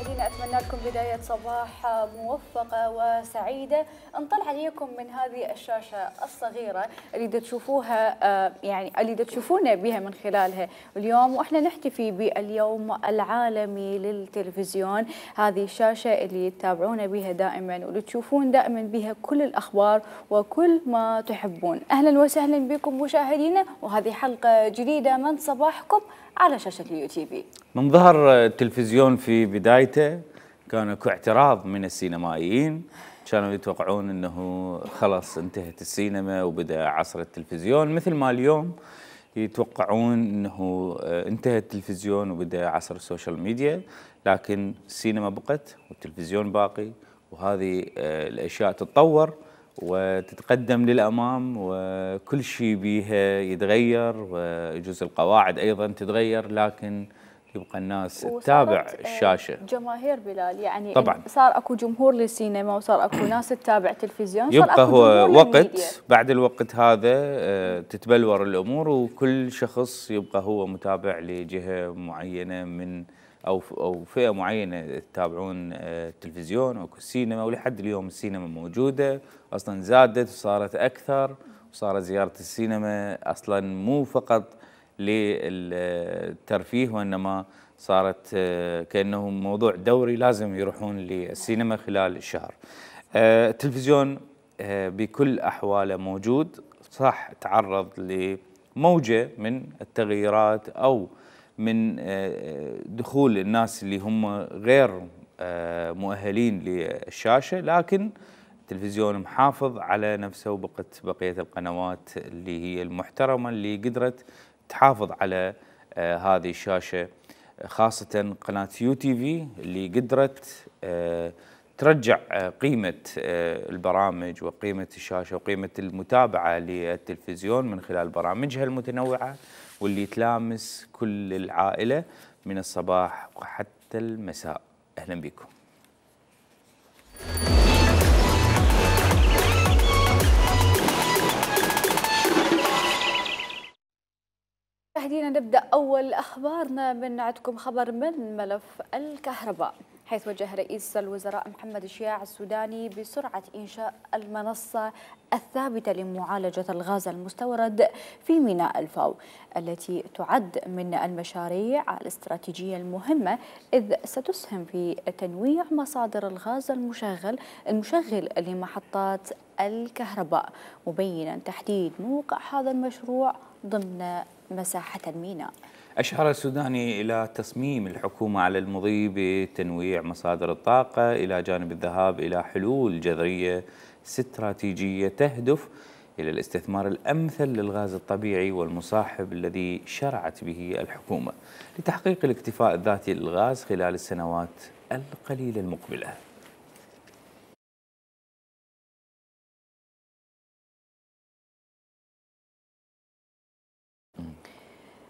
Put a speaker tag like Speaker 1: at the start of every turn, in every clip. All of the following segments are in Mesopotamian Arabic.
Speaker 1: مشاهدينا أتمنى لكم بداية صباح موفقة وسعيدة. نطلع عليكم من هذه الشاشة الصغيرة اللي تشوفوها يعني اللي تشوفونا بها من خلالها اليوم، واحنا نحتفي باليوم العالمي للتلفزيون. هذه الشاشة اللي تتابعونا بها دائما واللي تشوفون دائما بها كل الأخبار وكل ما تحبون. أهلا وسهلا بكم مشاهدينا، وهذه حلقة جديدة من صباحكم على شاشة اليو تي في.
Speaker 2: من ظهر التلفزيون في بدايته كان اكو اعتراض من السينمائيين، كانوا يتوقعون انه خلص انتهت السينما وبدا عصر التلفزيون، مثل ما اليوم يتوقعون انه انتهى التلفزيون وبدا عصر السوشيال ميديا، لكن السينما بقت والتلفزيون باقي، وهذه الاشياء تتطور وتتقدم للامام وكل شيء بيها يتغير، ويجوز القواعد ايضا تتغير، لكن يبقى الناس تتابع الشاشه.
Speaker 1: جماهير بلال يعني
Speaker 2: طبعا
Speaker 1: صار اكو جمهور للسينما وصار اكو ناس تتابع تلفزيون، صار
Speaker 2: يبقى
Speaker 1: اكو
Speaker 2: هو
Speaker 1: وقت
Speaker 2: بعد الوقت هذا تتبلور الامور، وكل شخص يبقى هو متابع لجهه معينه من او فئه معينه يتابعون التلفزيون او السينما، ولحد اليوم السينما موجوده، اصلا زادت وصارت اكثر، وصارت زياره السينما اصلا مو فقط للترفيه، وانما صارت كانه موضوع دوري لازم يروحون للسينما خلال الشهر. التلفزيون بكل احواله موجود، صح تعرض لموجه من التغييرات او من دخول الناس اللي هم غير مؤهلين للشاشه، لكن التلفزيون محافظ على نفسه، وبقت بقيه القنوات اللي هي المحترمه اللي قدرت تحافظ على هذه الشاشه، خاصه قناه يو تي في اللي قدرت ترجع قيمه البرامج وقيمه الشاشه وقيمه المتابعه للتلفزيون من خلال برامجها المتنوعه، واللي تلامس كل العائله من الصباح وحتى المساء. اهلا بكم.
Speaker 1: مشاهدينا نبدأ أول أخبارنا من عندكم خبر من ملف الكهرباء، حيث وجه رئيس الوزراء محمد الشياع السوداني بسرعة إنشاء المنصة الثابتة لمعالجة الغاز المستورد في ميناء الفاو، التي تعد من المشاريع الاستراتيجية المهمة، إذ ستسهم في تنويع مصادر الغاز المشغل لمحطات الكهرباء، مبينا تحديد موقع هذا المشروع ضمن مساحة الميناء.
Speaker 2: أشار السوداني إلى تصميم الحكومة على المضي بتنويع مصادر الطاقة إلى جانب الذهاب إلى حلول جذرية استراتيجية تهدف إلى الاستثمار الأمثل للغاز الطبيعي والمصاحب الذي شرعت به الحكومة لتحقيق الاكتفاء الذاتي للغاز خلال السنوات القليلة المقبلة.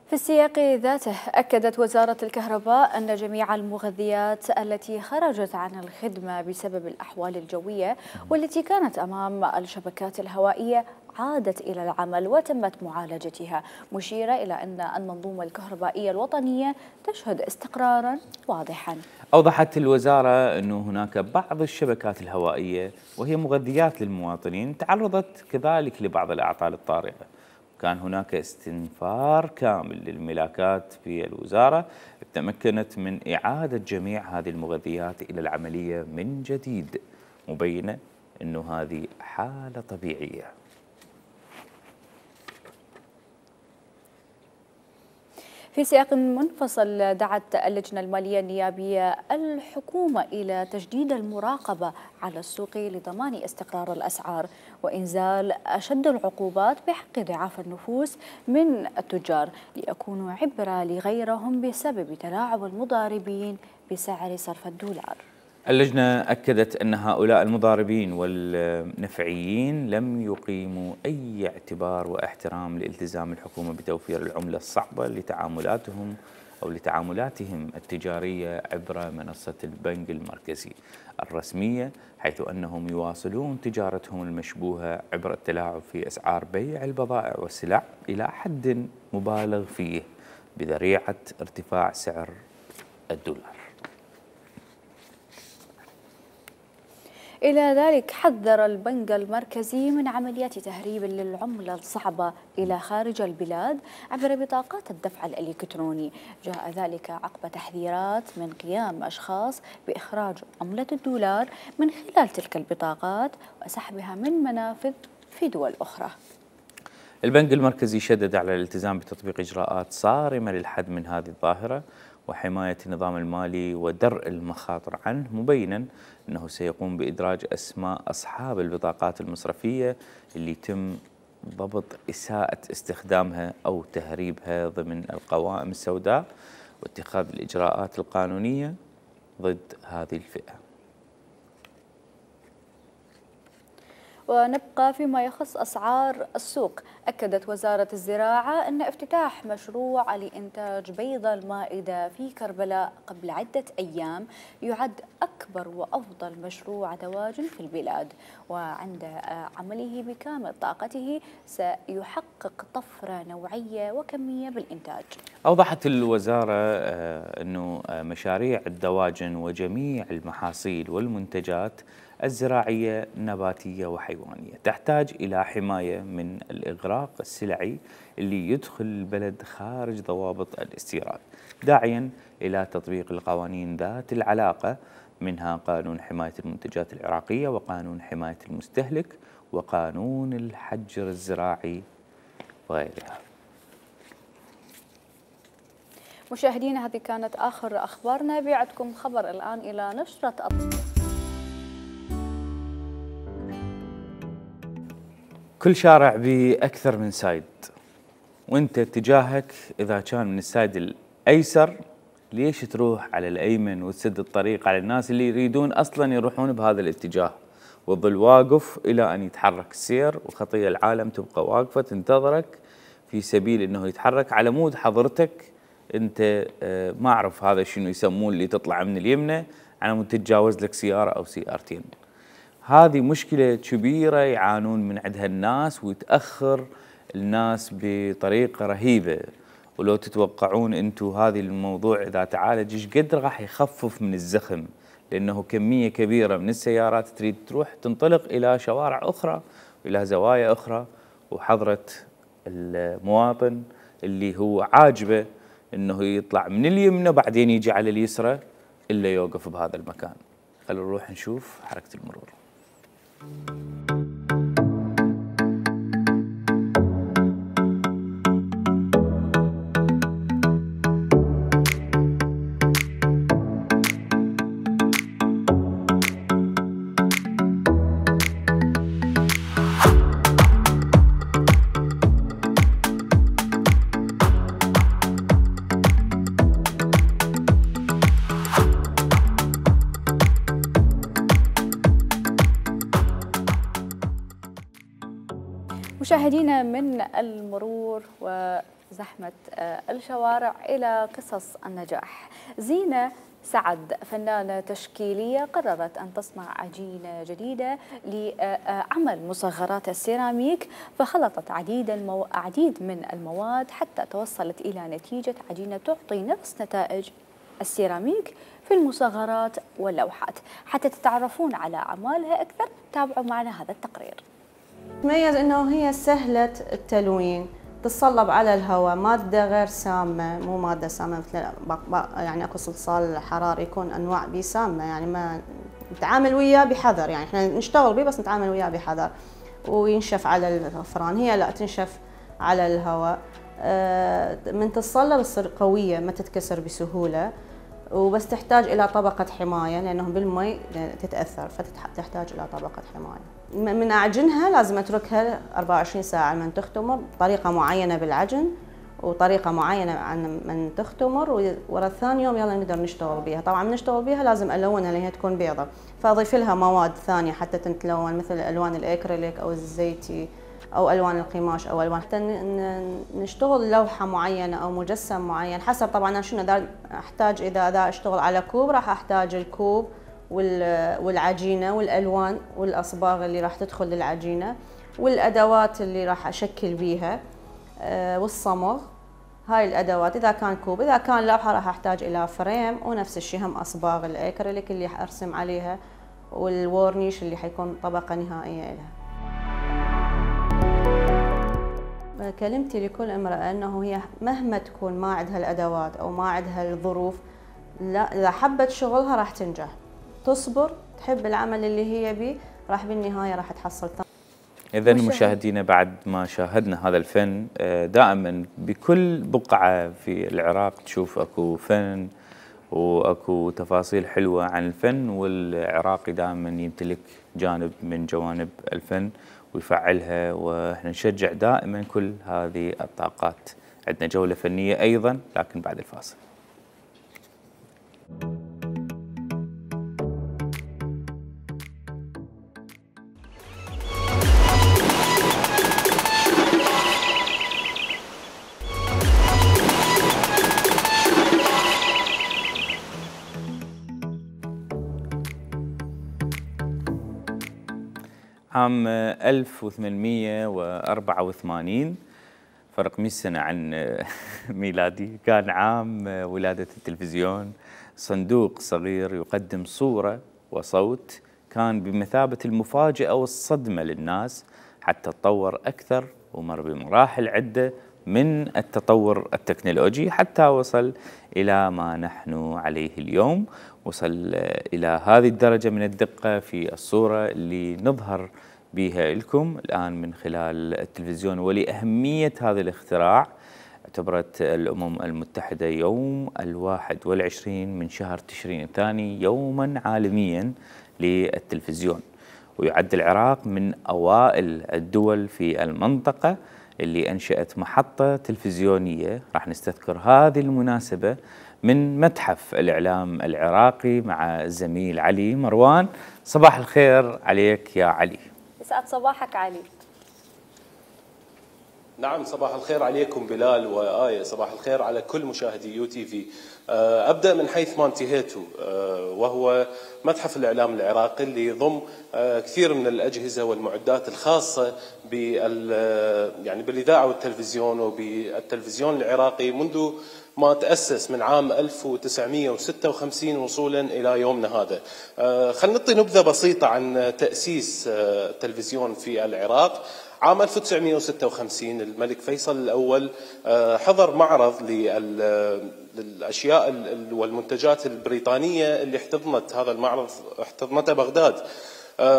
Speaker 1: في السياق ذاته أكدت وزارة الكهرباء أن جميع المغذيات التي خرجت عن الخدمة بسبب الأحوال الجوية والتي كانت أمام الشبكات الهوائية عادت إلى العمل وتمت معالجتها، مشيرة إلى أن المنظومة الكهربائية الوطنية تشهد استقراراً واضحاً.
Speaker 2: أوضحت الوزارة أن هناك بعض الشبكات الهوائية وهي مغذيات للمواطنين تعرضت كذلك لبعض الأعطال الطارئة، كان هناك استنفار كامل للملاكات في الوزارة، تمكنت من إعادة جميع هذه المغذيات إلى العملية من جديد، مبينة أنه هذه حالة طبيعية.
Speaker 1: في سياق منفصل، دعت اللجنة المالية النيابية الحكومة إلى تجديد المراقبة على السوق لضمان استقرار الأسعار وإنزال أشد العقوبات بحق ضعاف النفوس من التجار ليكونوا عبرة لغيرهم بسبب تلاعب المضاربين بسعر صرف الدولار.
Speaker 2: اللجنة أكدت أن هؤلاء المضاربين والنفعيين لم يقيموا أي اعتبار واحترام لالتزام الحكومة بتوفير العملة الصعبة لتعاملاتهم التجارية عبر منصة البنك المركزي الرسمية، حيث أنهم يواصلون تجارتهم المشبوهة عبر التلاعب في أسعار بيع البضائع والسلع إلى حد مبالغ فيه بذريعة ارتفاع سعر الدولار.
Speaker 1: إلى ذلك حذر البنك المركزي من عمليات تهريب للعملة الصعبة إلى خارج البلاد عبر بطاقات الدفع الإلكتروني. جاء ذلك عقب تحذيرات من قيام أشخاص بإخراج عملة الدولار من خلال تلك البطاقات وسحبها من منافذ في دول أخرى.
Speaker 2: البنك المركزي شدد على الالتزام بتطبيق إجراءات صارمة للحد من هذه الظاهرة وحماية النظام المالي ودرء المخاطر عنه، مبينا أنه سيقوم بإدراج أسماء أصحاب البطاقات المصرفية اللي يتم ضبط إساءة استخدامها أو تهريبها ضمن القوائم السوداء واتخاذ الإجراءات القانونية ضد هذه الفئة.
Speaker 1: ونبقى فيما يخص أسعار السوق. أكدت وزارة الزراعة أن افتتاح مشروع لإنتاج بيض المائدة في كربلاء قبل عدة أيام يعد أكبر وأفضل مشروع دواجن في البلاد، وعند عمله بكامل طاقته سيحقق طفرة نوعية وكمية بالإنتاج.
Speaker 2: أوضحت الوزارة أنه مشاريع الدواجن وجميع المحاصيل والمنتجات الزراعية نباتية وحيوانية تحتاج إلى حماية من الإغراق السلعي اللي يدخل البلد خارج ضوابط الاستيراد، داعيا إلى تطبيق القوانين ذات العلاقة، منها قانون حماية المنتجات العراقية وقانون حماية المستهلك وقانون الحجر الزراعي وغيرها.
Speaker 1: مشاهدينا، هذه كانت آخر أخبارنا. بيعدكم خبر الآن إلى نشرة
Speaker 2: كل شارع بأكثر من سايد، وانت اتجاهك إذا كان من السايد الأيسر ليش تروح على الأيمن وتسد الطريق على الناس اللي يريدون أصلا يروحون بهذا الاتجاه، وظل واقف إلى أن يتحرك السير وخطية العالم تبقى واقفة تنتظرك في سبيل أنه يتحرك على مود حضرتك انت ما أعرف هذا شنو يسمون اللي تطلع من اليمنى على مود تتجاوز لك سيارة أو سيارتين. هذه مشكلة كبيرة يعانون من عندها الناس، ويتأخر الناس بطريقة رهيبة. ولو تتوقعون أنتم هذه الموضوع إذا تعالج إيش قد راح يخفف من الزخم، لأنه كمية كبيرة من السيارات تريد تروح تنطلق إلى شوارع أخرى وإلى زوايا أخرى، وحضرة المواطن اللي هو عاجبه أنه يطلع من اليمنى بعدين يجي على اليسرى إلا يوقف بهذا المكان. خلونا نروح نشوف حركة المرور.
Speaker 1: مشاهدينا، من المرور وزحمة الشوارع إلى قصص النجاح. زينة سعد فنانة تشكيلية قررت أن تصنع عجينة جديدة لعمل مصغرات السيراميك، فخلطت عديد من المواد حتى توصلت إلى نتيجة عجينة تعطي نفس نتائج السيراميك في المصغرات واللوحات. حتى تتعرفون على أعمالها أكثر تابعوا معنا هذا التقرير.
Speaker 3: تميز انه هي سهلة التلوين، تتصلب على الهواء، مادة غير سامة، مو مادة سامة مثل يعني اكو صلصال حراري يكون انواع بيه سامة، يعني ما نتعامل وياه بحذر، يعني احنا نشتغل بيه بس نتعامل وياه بحذر، وينشف على الفران. هي لا تنشف على الهواء، من تتصلب تصير قوية ما تتكسر بسهولة، وبس تحتاج الى طبقة حماية لانه بالمي تتأثر، فتحتاج الى طبقة حماية. من اعجنها لازم اتركها 24 ساعة من تختمر بطريقة معينة بالعجن، وطريقة معينة عن من تختمر، ورا ثاني يوم يلا نقدر نشتغل بيها. طبعا من نشتغل بيها لازم الونها لان هي تكون بيضة، فاضيف لها مواد ثانية حتى تتلون مثل الوان الاكريليك او الزيتي او الوان القماش او الوان، حتى نشتغل لوحة معينة او مجسم معين حسب طبعا شنو احتاج. اذا اشتغل على كوب راح احتاج الكوب والعجينة والألوان والأصباغ اللي راح تدخل للعجينة والأدوات اللي راح أشكل بيها والصمغ. هاي الأدوات إذا كان كوب. إذا كان لوحة راح أحتاج إلى فريم، ونفس الشيء هم أصباغ الأكريليك اللي راح أرسم عليها، والورنيش اللي حيكون طبقة نهائية لها. كلمتي لكل امرأة أنه هي مهما تكون ما عندها الأدوات أو ما عندها الظروف، لا، إذا حبت شغلها راح تنجح، تصبر، تحب العمل اللي هي بيه، راح بالنهاية راح تحصل.
Speaker 2: إذا مشاهدينا بعد ما شاهدنا هذا الفن، دائما بكل بقعة في العراق تشوف أكو فن وأكو تفاصيل حلوة عن الفن، والعراقي دائما يمتلك جانب من جوانب الفن ويفعلها، وإحنا نشجع دائما كل هذه الطاقات. عندنا جولة فنية أيضا لكن بعد الفاصل. عام 1884 فرق 100 سنة عن ميلادي، كان عام ولادة التلفزيون. صندوق صغير يقدم صورة وصوت كان بمثابة المفاجأة والصدمة للناس، حتى تطور أكثر ومر بمراحل عدة من التطور التكنولوجي حتى وصل إلى ما نحن عليه اليوم. وصل إلى هذه الدرجة من الدقة في الصورة اللي نظهر بها لكم الآن من خلال التلفزيون. ولأهمية هذا الاختراع اعتبرت الأمم المتحدة يوم 21 من شهر تشرين الثاني يوما عالميا للتلفزيون، ويعد العراق من أوائل الدول في المنطقة اللي أنشأت محطة تلفزيونية. راح نستذكر هذه المناسبة من متحف الإعلام العراقي مع الزميل علي مروان. صباح الخير عليك يا علي.
Speaker 1: يسعد صباحك علي.
Speaker 4: نعم، صباح الخير عليكم بلال وآية، صباح الخير على كل مشاهدي يو تي في. أبدأ من حيث ما انتهيتوا، وهو متحف الإعلام العراقي اللي يضم كثير من الأجهزة والمعدات الخاصة يعني بالإذاعة والتلفزيون وبالتلفزيون العراقي منذ ما تأسس من عام 1956 وصولا إلى يومنا هذا. خلينا نعطي نبذة بسيطة عن تأسيس التلفزيون في العراق. عام 1956 الملك فيصل الأول حضر معرض للأشياء والمنتجات البريطانية اللي احتضنت هذا المعرض، احتضنته بغداد.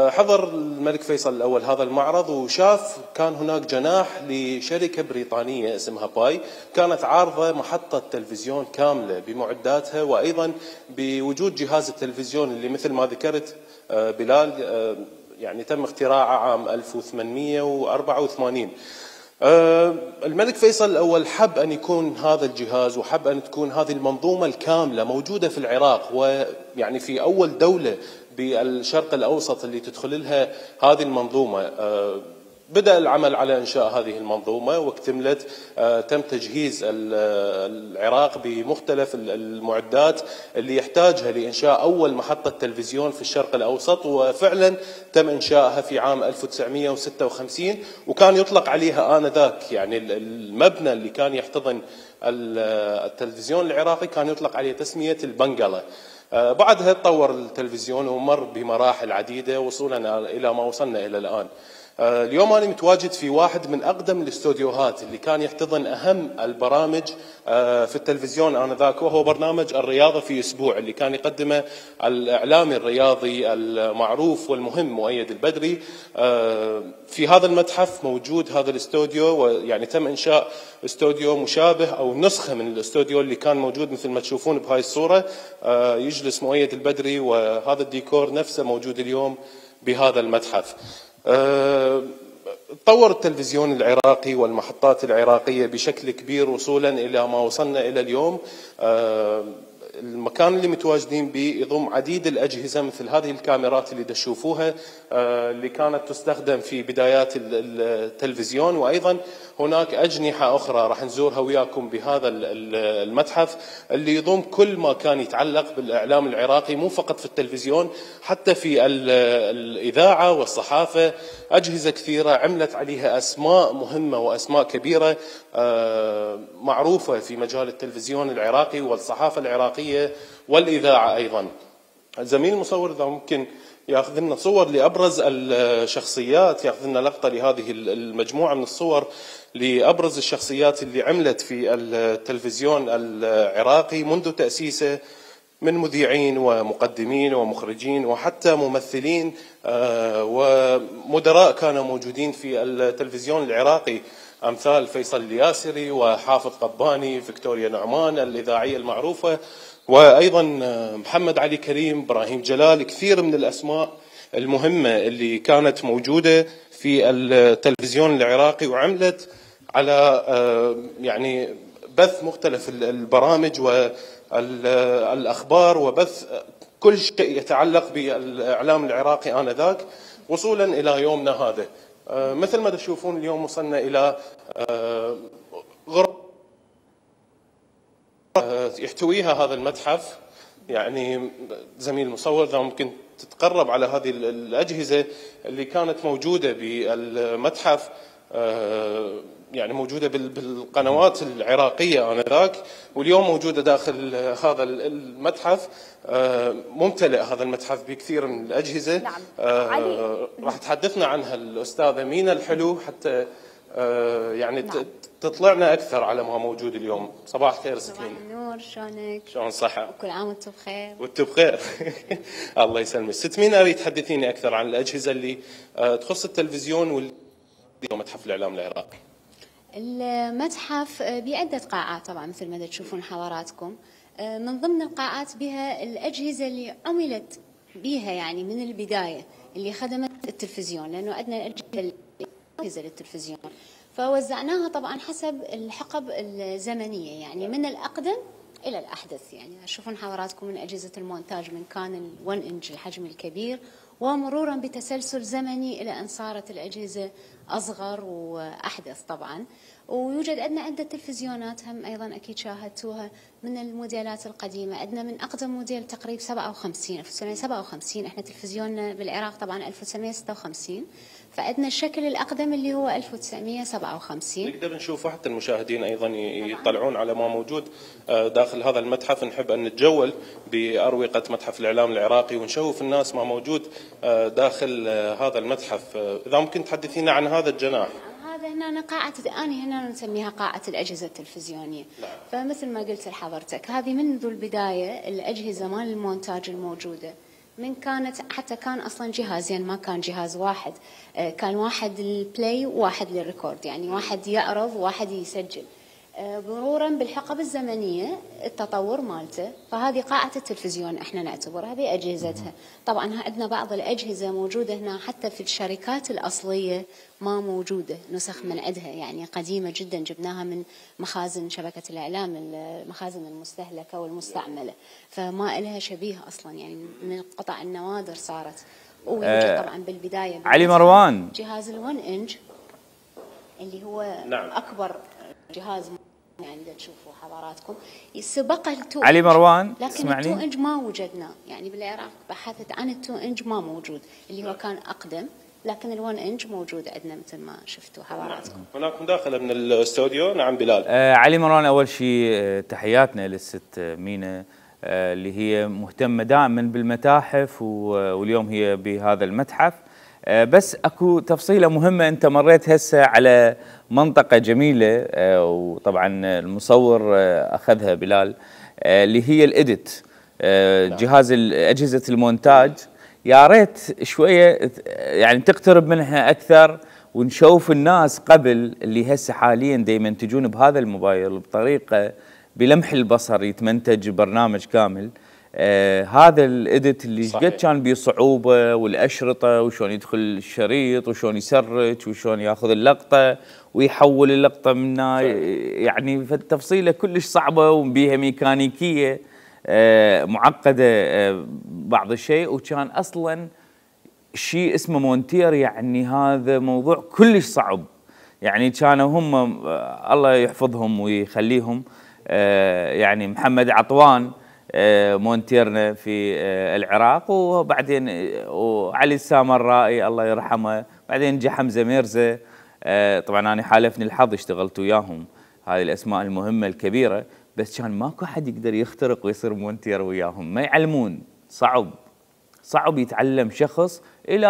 Speaker 4: حضر الملك فيصل الأول هذا المعرض وشاف كان هناك جناح لشركة بريطانية اسمها باي، كانت عارضة محطة تلفزيون كاملة بمعداتها وأيضا بوجود جهاز التلفزيون اللي مثل ما ذكرت بلال يعني تم اختراعه عام 1884. الملك فيصل الأول حب أن يكون هذا الجهاز وحب أن تكون هذه المنظومة الكاملة موجودة في العراق، ويعني في أول دولة بالشرق الأوسط اللي تدخل لها هذه المنظومة. بدأ العمل على إنشاء هذه المنظومة واكتملت. تم تجهيز العراق بمختلف المعدات اللي يحتاجها لإنشاء أول محطة تلفزيون في الشرق الأوسط، وفعلا تم إنشائها في عام 1956 وكان يطلق عليها آنذاك، يعني المبنى اللي كان يحتضن التلفزيون العراقي كان يطلق عليه تسمية البنغلة. بعدها تطور التلفزيون ومر بمراحل عديدة وصولا إلى ما وصلنا إلى الآن. اليوم أنا متواجد في واحد من أقدم الاستوديوهات اللي كان يحتضن أهم البرامج في التلفزيون آنذاك، وهو برنامج الرياضة في أسبوع اللي كان يقدمه الإعلامي الرياضي المعروف والمهم مؤيد البدري. في هذا المتحف موجود هذا الاستوديو، ويعني تم إنشاء استوديو مشابه أو نسخة من الاستوديو اللي كان موجود مثل ما تشوفون بهاي الصورة. يجلس مؤيد البدري وهذا الديكور نفسه موجود اليوم بهذا المتحف. تطور التلفزيون العراقي والمحطات العراقية بشكل كبير وصولا إلى ما وصلنا إلى اليوم. المكان اللي متواجدين به يضم عديد الأجهزة مثل هذه الكاميرات اللي تشوفوها اللي كانت تستخدم في بدايات التلفزيون، وأيضا هناك أجنحة أخرى راح نزورها وياكم بهذا المتحف اللي يضم كل ما كان يتعلق بالإعلام العراقي، مو فقط في التلفزيون حتى في الإذاعة والصحافة. أجهزة كثيرة عملت عليها أسماء مهمة وأسماء كبيرة معروفة في مجال التلفزيون العراقي والصحافة العراقية والإذاعة أيضا. الزميل المصور إذا ممكن ياخذ لنا صور لابرز الشخصيات، ياخذ لنا لقطه لهذه المجموعه من الصور لابرز الشخصيات اللي عملت في التلفزيون العراقي منذ تاسيسه، من مذيعين ومقدمين ومخرجين وحتى ممثلين ومدراء كانوا موجودين في التلفزيون العراقي، امثال فيصل الياسري وحافظ قباني، فيكتوريا نعمان الاذاعيه المعروفه، وايضا محمد علي كريم، ابراهيم جلال، كثير من الاسماء المهمه اللي كانت موجوده في التلفزيون العراقي وعملت على يعني بث مختلف البرامج والاخبار وبث كل شيء يتعلق بالاعلام العراقي انذاك وصولا الى يومنا هذا. مثل ما تشوفون اليوم وصلنا الى غرفه يحتويها هذا المتحف. يعني زميل المصور اذا ممكن تتقرب على هذه الاجهزه اللي كانت موجوده بالمتحف، يعني موجوده بالقنوات العراقيه انذاك، واليوم موجوده داخل هذا المتحف. ممتلئ هذا المتحف بكثير من الاجهزه.
Speaker 1: نعم.
Speaker 4: راح تحدثنا عنها الاستاذه مينا الحلو حتى يعني نعم. تطلعنا اكثر على ما موجود اليوم. صباح الخير ست مينا.
Speaker 5: صباح النور، شلونك؟
Speaker 4: شلون صحه؟
Speaker 5: كل عام وانتم بخير.
Speaker 4: وانتم بخير. الله يسلمك. ست مينا، اريد تحدثيني اكثر عن الاجهزه اللي تخص التلفزيون ومتحف الاعلام العراقي.
Speaker 5: المتحف بعدة قاعات طبعا مثل ما تشوفون حضراتكم. من ضمن القاعات بها الأجهزة اللي عملت بها يعني من البداية اللي خدمت التلفزيون، لأنه عندنا أجهزة للتلفزيون فوزعناها طبعا حسب الحقب الزمنية، يعني من الأقدم إلى الأحدث. يعني تشوفون حضراتكم من أجهزة المونتاج من كان ال1 إنج الحجم الكبير، ومرورا بتسلسل زمني إلى أن صارت الأجهزة أصغر وأحدث طبعا. ويوجد عندنا عدة تلفزيونات هم أيضا أكيد شاهدتوها من الموديلات القديمة. عندنا من أقدم موديل تقريبا 1957. احنا تلفزيوننا بالعراق طبعا 1956، فعندنا الشكل الأقدم اللي هو 1957.
Speaker 4: نقدر نشوفه حتى المشاهدين أيضا يطلعون على ما موجود داخل هذا المتحف. نحب أن نتجول بأروقة متحف الإعلام العراقي ونشوف الناس ما موجود داخل هذا المتحف. إذا ممكن تحدثينا عن هذا الجناح.
Speaker 5: هذا هنا قاعة أنا هنا نسميها قاعة الأجهزة التلفزيونية. فمثل ما قلت لحضرتك هذه منذ البداية الأجهزة مال المونتاج الموجودة، من كانت حتى كان أصلا جهازين، ما كان جهاز واحد، كان واحد للبلاي وواحد للريكورد، يعني واحد يعرض وواحد يسجل. مرورا بالحقب الزمنية التطور مالته، فهذه قاعة التلفزيون احنا نعتبرها بأجهزتها. طبعا عندنا بعض الأجهزة موجودة هنا حتى في الشركات الأصلية ما موجودة، نسخ من عندها يعني قديمة جدا، جبناها من مخازن شبكة الإعلام، المخازن المستهلكة والمستعملة، فما لها شبيه أصلا، يعني من القطع النوادر صارت. ويوجد طبعا بالبداية
Speaker 2: علي مروان
Speaker 5: جهاز ال1 إنج اللي هو
Speaker 4: نعم.
Speaker 5: أكبر جهاز يعني تشوفوا حضراتكم، سبقه ال2
Speaker 2: علي مروان،
Speaker 5: لكن ال2 إنج ما وجدنا، يعني بالعراق بحثت عن ال2 إنج ما موجود، اللي هو كان أقدم، لكن ال1 إنج موجود عندنا مثل ما شفتوا حضراتكم.
Speaker 4: هناك مداخلة من الاستوديو. نعم بلال.
Speaker 2: علي مروان، أول شيء تحياتنا للست مينا اللي هي مهتمة دائما بالمتاحف واليوم هي بهذا المتحف. بس اكو تفصيله مهمه، انت مريت هسه على منطقه جميله وطبعا المصور اخذها بلال، اللي هي الاديت، جهاز اجهزه المونتاج. يا ريت شويه يعني تقترب منها اكثر ونشوف الناس قبل اللي هسه حاليا دائما ينتجون بهذا الموبايل بطريقه بلمح البصر يتمنتج برنامج كامل. هذا الاديت اللي قد كان بيه صعوبه، والاشرطه وشلون يدخل الشريط وشلون يسرج وشلون ياخذ اللقطه ويحول اللقطه منها، يعني فالتفصيله كلش صعبه وبيها ميكانيكيه معقده بعض الشيء، وكان اصلا شيء اسمه مونتير، يعني هذا موضوع كلش صعب. يعني كانوا هم الله يحفظهم ويخليهم، يعني محمد عطوان مونتيرنا في العراق، وبعدين وعلي السامرائي الله يرحمه، بعدين جه حمزه ميرزا. طبعا انا حالفني الحظ اشتغلت وياهم، هذه الاسماء المهمه الكبيره، بس كان ماكو حد يقدر يخترق ويصير مونتير وياهم، ما يعلمون، صعب صعب يتعلم شخص الى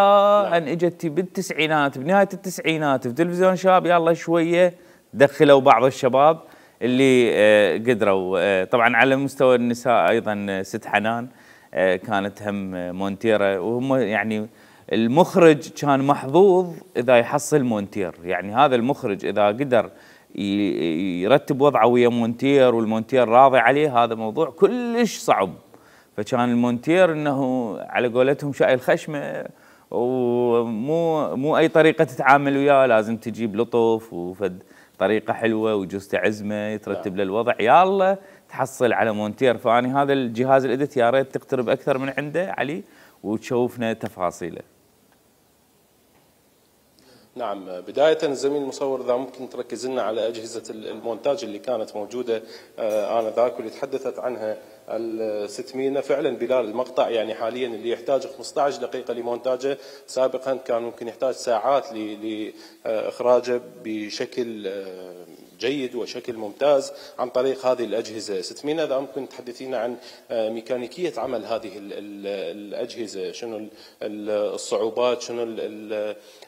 Speaker 2: ان اجت بالتسعينات، بنهايه التسعينات في تلفزيون شباب يلا شويه دخلوا بعض الشباب اللي قدروا. طبعا على مستوى النساء ايضا ست حنان كانت هم مونتيره، وهم يعني المخرج كان محظوظ اذا يحصل مونتير، يعني هذا المخرج اذا قدر يرتب وضعه ويا مونتير والمونتير راضي عليه، هذا موضوع كلش صعب. فكان المونتير انه على قولتهم شايل خشمه، ومو اي طريقه تتعامل وياه، لازم تجيب لطف وفد طريقه حلوه ويجوز تعزمه يترتب له الوضع، يلا تحصل على مونتير. فاني هذا الجهاز الادت يا ريت تقترب اكثر من عنده علي وتشوفنا تفاصيله.
Speaker 4: نعم، بداية الزميل المصور إذا ممكن تركز لنا على أجهزة المونتاج اللي كانت موجودة آنذاك واللي تحدثت عنها الست مينا. فعلا بلال المقطع يعني حاليا اللي يحتاج 15 دقيقة لمونتاجه، سابقا كان ممكن يحتاج ساعات لإخراجه بشكل جيد وشكل ممتاز عن طريق هذه الأجهزة. ست مينا إذا ممكن تحدثينا عن ميكانيكية عمل هذه الأجهزة، شنو الصعوبات، شنو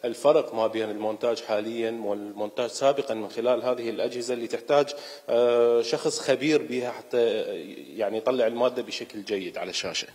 Speaker 4: الفرق ما بين المونتاج حاليا والمونتاج سابقا من خلال هذه الأجهزة اللي تحتاج شخص خبير بها حتى يعني يطلع المادة بشكل جيد على الشاشة.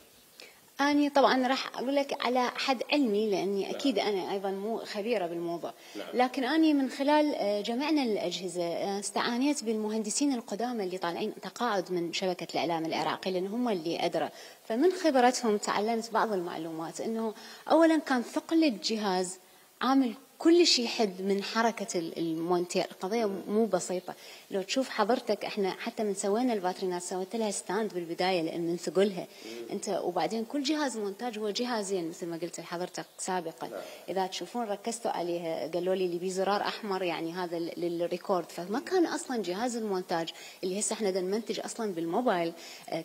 Speaker 5: أنا طبعا راح أقول لك على حد علمي، لأني أكيد أنا أيضا مو خبيرة بالموضوع، لكن أنا من خلال جمعنا الأجهزة استعانيت بالمهندسين القدامى اللي طالعين تقاعد من شبكة الإعلام العراقي، لأن هم اللي أدرى. فمن خبرتهم تعلمت بعض المعلومات، أنه أولا كان ثقل الجهاز عامل كل شيء حد من حركة المونتير. القضية مو بسيطة، لو تشوف حضرتك احنا حتى من سوينا الباترينات سويت لها ستاند بالبداية لأن من ثقلها انت، وبعدين كل جهاز مونتاج هو جهازين مثل ما قلت لحضرتك سابقا. إذا تشوفون ركزتوا عليها قالوا لي اللي بيه زرار أحمر يعني هذا للريكورد، فما كان أصلا جهاز المونتاج اللي هسه احنا نمنتج أصلا بالموبايل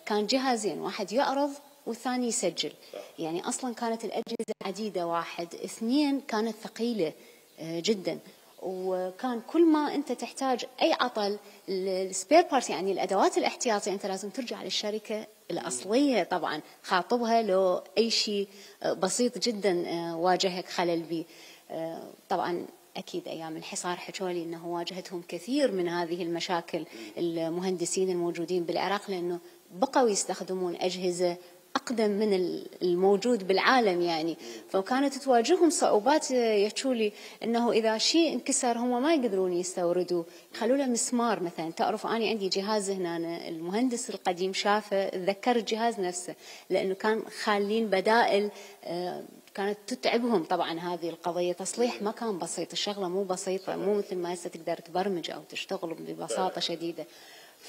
Speaker 5: كان جهازين، واحد يعرض والثاني يسجل. يعني أصلا كانت الأجهزة عديدة، واحد اثنين كانت ثقيلة جدا، وكان كل ما أنت تحتاج أي عطل السبير بارت يعني الأدوات الاحتياطية أنت لازم ترجع للشركة الأصلية طبعا خاطبها لو أي شيء بسيط جدا واجهك خلل به. طبعا أكيد أيام الحصار حكولي أنه واجهتهم كثير من هذه المشاكل المهندسين الموجودين بالعراق، لأنه بقوا يستخدمون أجهزة أقدم من الموجود بالعالم يعني، فكانت تواجههم صعوبات. يحكولي أنه إذا شيء انكسر هم ما يقدرون يستوردوا، يخلوا له مسمار مثلا. تعرف أنا عندي جهاز هنا المهندس القديم شافه تذكر الجهاز نفسه، لأنه كان خالين بدائل كانت تتعبهم. طبعا هذه القضية تصليح ما كان بسيط، الشغلة مو بسيطة، مو مثل ما هسه تقدر تبرمج أو تشتغل ببساطة شديدة.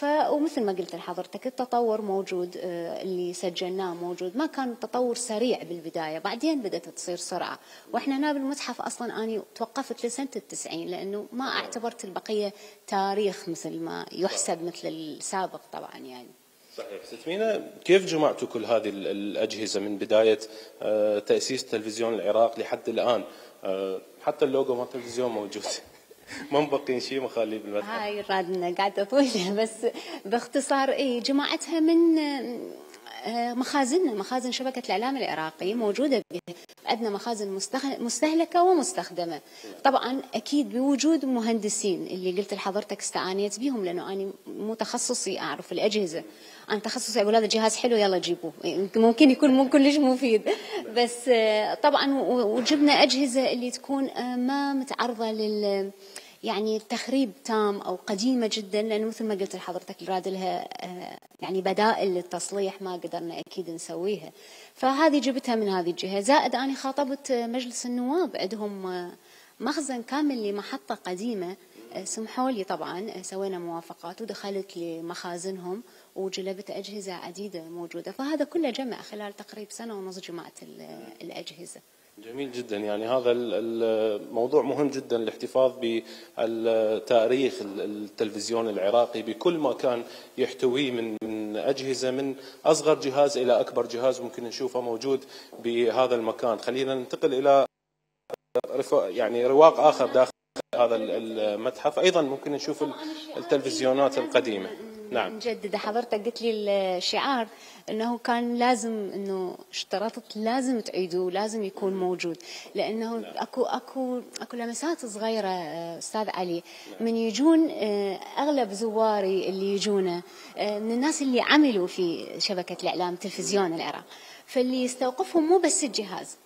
Speaker 5: ومثل ما قلت لحضرتك التطور موجود، اللي سجلناه موجود، ما كان تطور سريع بالبداية، بعدين بدأت تصير سرعة. وإحنا هنا بالمتحف أصلا أنا توقفت لسنة 90، لأنه ما اعتبرت البقية تاريخ مثل ما يحسب مثل السابق طبعا يعني.
Speaker 4: صحيح. ست مينا، كيف جمعتوا كل هذه الأجهزة من بداية تأسيس تلفزيون العراق لحد الآن؟ حتى اللوجو مال التلفزيون موجود ما مبقين شيء مخليه بالمتحف.
Speaker 5: هاي رادنا قاعدة طويلة، بس باختصار جماعتها من مخازننا، مخازن شبكة الإعلام العراقي موجودة بها. عندنا مخازن مستهلكة ومستخدمة، طبعا أكيد بوجود مهندسين اللي قلت لحضرتك استعانيت بهم، لأنه أنا مو تخصصي أعرف الأجهزة، أنا تخصصي أقول هذا جهاز حلو يلا جيبوه، ممكن يكون مو كلش مفيد، بس طبعا وجبنا أجهزة اللي تكون ما متعرضة يعني تخريب تام أو قديمة جدا، لأنه مثل ما قلت لحضرتك الراد لها يعني بدائل للتصليح ما قدرنا أكيد نسويها. فهذه جبتها من هذه الجهة. زائد أنا خاطبت مجلس النواب، عندهم مخزن كامل لمحطة قديمة، سمحوا لي طبعا سوينا موافقات ودخلت لمخازنهم وجلبت أجهزة عديدة موجودة. فهذا كله جمع خلال تقريبا سنة ونص جمعت الأجهزة.
Speaker 4: جميل جدا. يعني هذا الموضوع مهم جدا، الاحتفاظ بالتاريخ التلفزيون العراقي بكل ما كان يحتويه من أجهزة، من أصغر جهاز إلى أكبر جهاز ممكن نشوفه موجود بهذا المكان. خلينا ننتقل إلى يعني رواق آخر داخل هذا المتحف. ايضا ممكن نشوف التلفزيونات القديمه. نعم.
Speaker 5: نجدد، حضرتك قلت لي الشعار انه كان لازم، انه اشترطت لازم تعيدوه، لازم يكون موجود، لانه اكو لمسات صغيره استاذ علي من يجون اغلب زواري اللي يجونا من الناس اللي عملوا في شبكه الاعلام تلفزيون العراق، فاللي يستوقفهم مو بس الجهاز،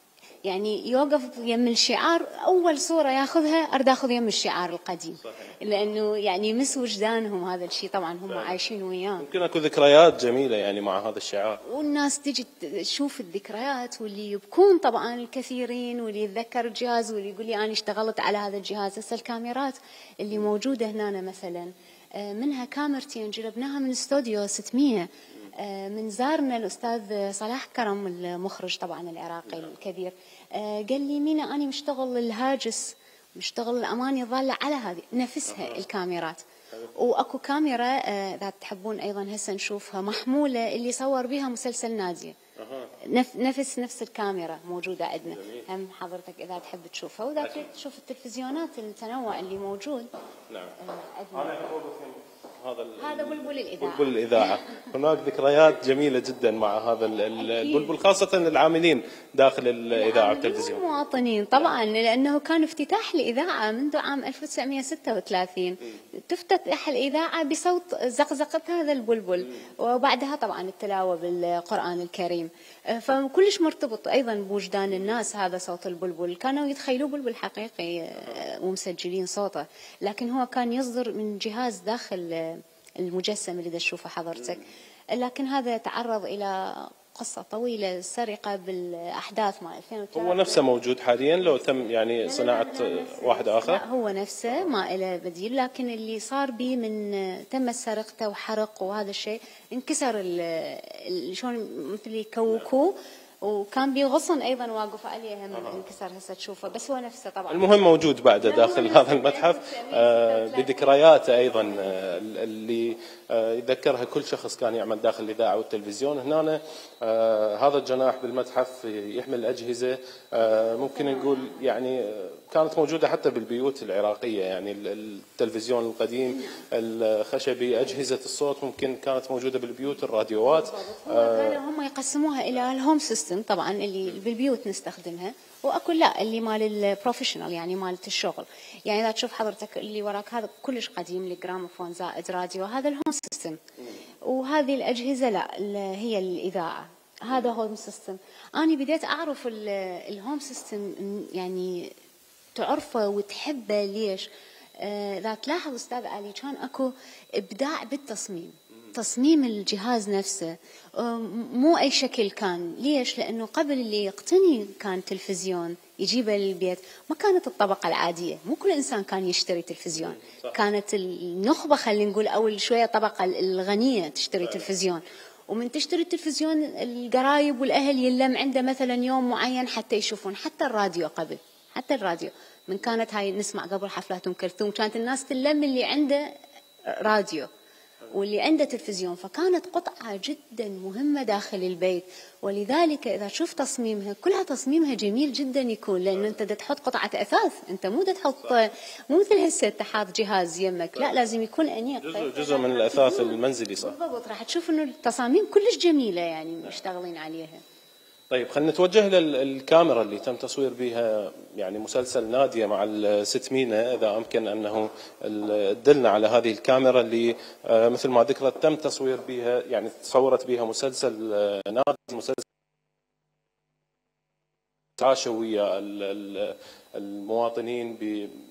Speaker 5: يعني يوقف يم الشعار، اول صوره ياخذها ارد اخذ يم الشعار القديم، لانه يعني يمس وجدانهم هذا الشيء، طبعا هم عايشين وياه.
Speaker 4: يمكن اكو ذكريات جميله يعني مع هذا الشعار،
Speaker 5: والناس تجي تشوف الذكريات، واللي يبكون طبعا الكثيرين، واللي يتذكر الجهاز واللي يقول لي انا اشتغلت على هذا الجهاز. هسه الكاميرات اللي موجوده هنا مثلا منها كاميرتين جربناها من استوديو 600، من زارنا الأستاذ صلاح كرم المخرج طبعا العراقي الكبير، قال لي مينا أنا مشتغل الهاجس، مشتغل الأماني ظالة على هذه نفسها الكاميرات. وأكو كاميرا إذا تحبون أيضا هسه نشوفها محمولة، اللي صور بها مسلسل نادية، نفس الكاميرا موجودة عندنا. هم حضرتك إذا تحب تشوفها، وإذا تريد تشوف التلفزيونات التنوع اللي موجود.
Speaker 4: نعم.
Speaker 5: هذا بلبل الإذاعة.
Speaker 4: بلبل الإذاعة. هناك ذكريات جميلة جدا مع هذا البلبل، خاصة العاملين داخل الإذاعة والتلفزيون.
Speaker 5: المواطنين طبعا، لأنه كان افتتاح الإذاعة منذ عام 1936، تفتتح الإذاعة بصوت زقزقة هذا البلبل، وبعدها طبعا التلاوة بالقرآن الكريم، فكلش مرتبط أيضا بوجدان الناس هذا صوت البلبل. كانوا يتخيلوا بلبل حقيقي ومسجلين صوته، لكن هو كان يصدر من جهاز داخل المجسم اللي تشوفه حضرتك. لكن هذا تعرض إلى قصة طويلة، سرقة بالأحداث مع 2003.
Speaker 4: هو نفسه موجود حاليا لو تم يعني صناعة واحد آخر؟
Speaker 5: لا هو نفسه ما له بديل، لكن اللي صار به من تم سرقته وحرق وهذا الشيء، انكسر شلون مثل يكوكوه، وكان بغصن ايضا واقف عليه هم انكسر، هسه تشوفه، بس هو نفسه طبعا.
Speaker 4: المهم موجود بعده داخل هذا المتحف بذكرياته ايضا اللي يذكرها كل شخص كان يعمل داخل الاذاعه والتلفزيون. هنا هذا الجناح بالمتحف يحمل اجهزه ممكن نقول يعني كانت موجوده حتى بالبيوت العراقيه، يعني التلفزيون القديم الخشبي، اجهزه الصوت ممكن كانت موجوده بالبيوت، الراديوات.
Speaker 5: كانوا هم يقسموها الى الهوم سيستم طبعا اللي بالبيوت نستخدمها، واكو لا اللي مال البروفيشنال يعني مالت الشغل. يعني اذا تشوف حضرتك اللي وراك هذا كلش قديم، الجراموفون زائد راديو، هذا الهوم سيستم. وهذه الاجهزه لا هي الاذاعه، هذا هوم سيستم. انا بديت اعرف الهوم سيستم يعني تعرفه وتحبه. ليش؟ اذا تلاحظ استاذ علي كان اكو ابداع بالتصميم، تصميم الجهاز نفسه مو اي شكل كان. ليش؟ لانه قبل اللي يقتني كان تلفزيون يجيبه للبيت ما كانت الطبقه العاديه، مو كل انسان كان يشتري تلفزيون، كانت النخبه خلينا نقول اول شويه الطبقه الغنيه تشتري تلفزيون. ومن تشتري التلفزيون القرايب والاهل يلم عنده مثلا يوم معين حتى يشوفون. حتى الراديو قبل، حتى الراديو من كانت هاي نسمع قبل حفلات ام كلثوم كانت الناس تلم اللي عنده راديو واللي عنده تلفزيون، فكانت قطعة جدا مهمة داخل البيت. ولذلك إذا تشوف تصميمها كلها تصميمها جميل جدا يكون، لأنه أنت تحط قطعة أثاث، أنت مو تحط مو مثل هسه تحط جهاز يمك، لا لازم يكون أنيق،
Speaker 4: جزء من الأثاث المنزلي. صح
Speaker 5: بالضبط. راح تشوف إنه التصاميم كلش جميلة يعني مشتغلين عليها.
Speaker 4: طيب خلينا نتوجه للكاميرا اللي تم تصوير بها يعني مسلسل نادية مع الست مينا، إذا أمكن أنه تدلنا على هذه الكاميرا اللي مثل ما ذكرت تم تصوير بها، يعني تصورت بها مسلسل نادية، مسلسل تعاشوا ويا المواطنين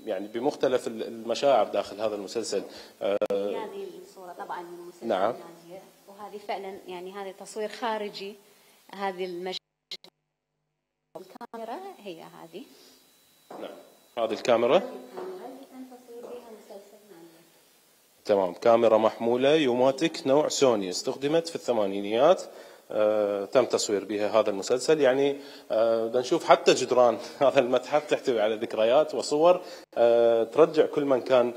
Speaker 4: يعني بمختلف المشاعر داخل هذا المسلسل.
Speaker 5: هذه الصورة طبعا من مسلسل
Speaker 4: نعم.
Speaker 5: نادية، وهذه فعلا يعني هذا تصوير خارجي. هذه الكاميرا هي هذه.
Speaker 4: نعم هذه الكاميرا
Speaker 5: اللي تم تصوير بها مسلسل نادية.
Speaker 4: تمام، كاميرا محمولة يوماتيك نوع سوني، استخدمت في الثمانينيات تم تصوير بها هذا المسلسل. يعني بدنا نشوف حتى جدران هذا المتحف تحتوي على ذكريات وصور ترجع كل من كان